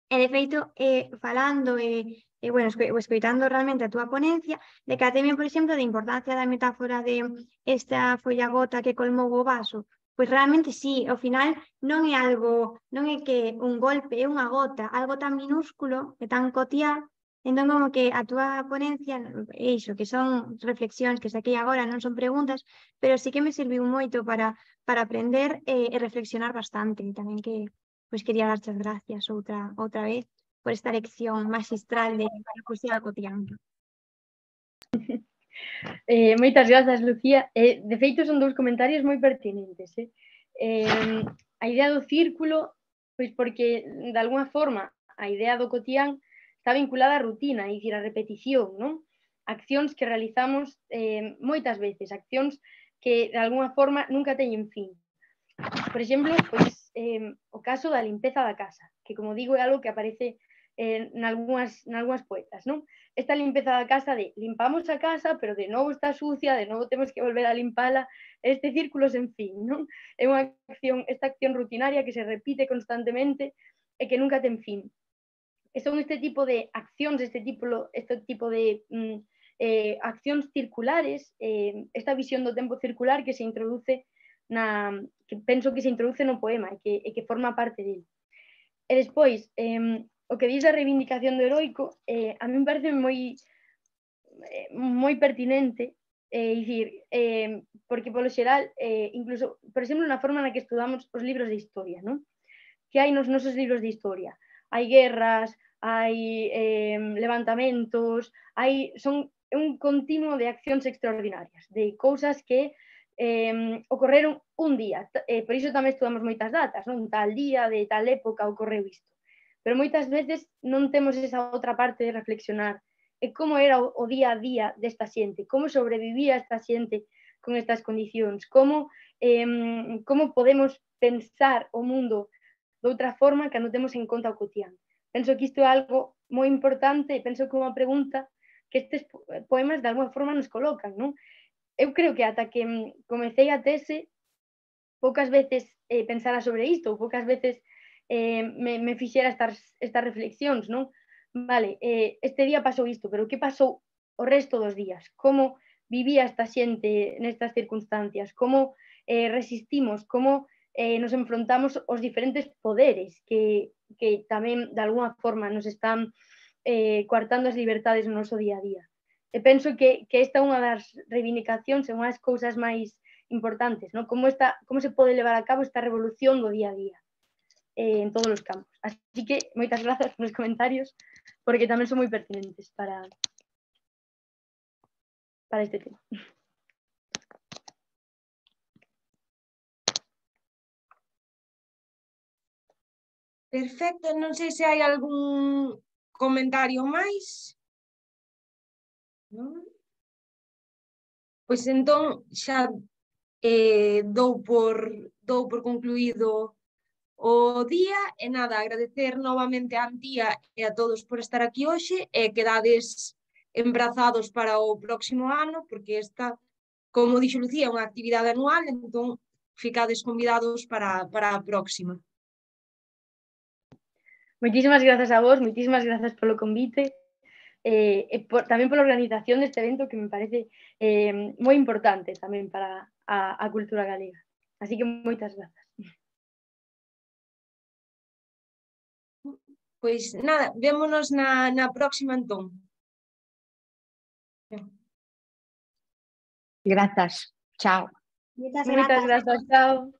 E, de feito, eh, falando e, eh, bueno, esco, escoitando realmente a túa ponencia, decateme, por exemplo, da importancia da metáfora de esta folla gota que colmou o vaso. Pois realmente sí, ao final non é algo, non é que un golpe, é unha gota, algo tan minúsculo e tan cotiá. Entón, como que a túa ponencia, é iso, que son reflexións que saquei agora, non son preguntas, pero sí que me serviu moito para, para aprender eh, e reflexionar bastante. E tamén que, pois, quería darche as gracias outra, outra vez por esta lección magistral de a poesía cotidiana. Eh, moitas grazas, Lucía. Eh, de feito, son dous comentarios moi pertinentes. Eh? Eh, a idea do círculo, pois porque, de alguna forma, a idea do cotián está vinculada á rutina, é dicir, á repetición, non? Accións que realizamos eh, moitas veces, accións que, de alguna forma, nunca teñen fin. Por exemplo, pois, eh, o caso da limpeza da casa, que, como digo, é algo que aparece eh, nalgúas, nalgúas poetas, non? Esta limpeza da casa de limpamos a casa, pero de novo está sucia, de novo temos que volver a limpala, este círculo sen fin, non? É unha acción, esta acción rutinaria que se repite constantemente e que nunca ten fin. E son este tipo de accións, este tipo, este tipo de mm, eh, accións circulares, eh, esta visión do tempo circular que se introduce na, que penso que se introduce no poema e que, e que forma parte dele. E despois, eh, o que diz a reivindicación do heroico, eh, a mí me parece moi, eh, moi pertinente, eh, dicir, eh, porque polo xeral, eh, incluso, por exemplo, na forma na que estudamos os libros de historia, non? Que hai nos nosos libros de historia? Hai guerras, hai eh, levantamentos, hai, son un continuo de accións extraordinarias, de cousas que eh, ocorreron un día. Eh, por iso tamén estudamos moitas datas, non? Tal día, de tal época ocorreu isto. Pero moitas veces non temos esa outra parte de reflexionar e como era o, o día a día desta xente, como sobrevivía esta xente con estas condicións, como, eh, como podemos pensar o mundo de outra forma cando temos en conta o cotián. Penso que isto é algo moi importante e penso que é unha pregunta que estes poemas de alguma forma nos colocan, non? Eu creo que ata que comecei a tese poucas veces eh, pensara sobre isto, ou poucas veces eh, me, me fixera estas, estas reflexións, non? Vale, eh, este día pasou isto, pero que pasou o resto dos días? Como vivía esta xente nestas circunstancias? Como eh, resistimos? Como eh, nos enfrontamos aos diferentes poderes que, que tamén de alguna forma nos están eh, coartando as libertades no noso día a día? E penso que, que esta é unha das reivindicacións e unha das cousas máis importantes, ¿no? Como, esta, como se pode levar a cabo esta revolución do día a día eh, en todos os campos. Así que moitas grazas nos comentarios porque tamén son moi pertinentes para, para este tema. Perfecto, non sei se hai algún comentario máis. Non? Pois entón xa eh, dou, por, dou por concluído o día e nada, agradecer novamente a Antía e a todos por estar aquí hoxe e quedades embrazados para o próximo ano porque esta, como dixo Lucía, é unha actividade anual, entón ficades convidados para, para a próxima. Moitísimas grazas a vos, moitísimas grazas polo convite eh, e por, tamén pola organización deste evento que me parece eh, moi importante tamén para a, a cultura galega. Así que moitas grazas. Pois nada, vémonos na, na próxima entón. Grazas. Chao. Moitas Moitas grazas. grazas, chao.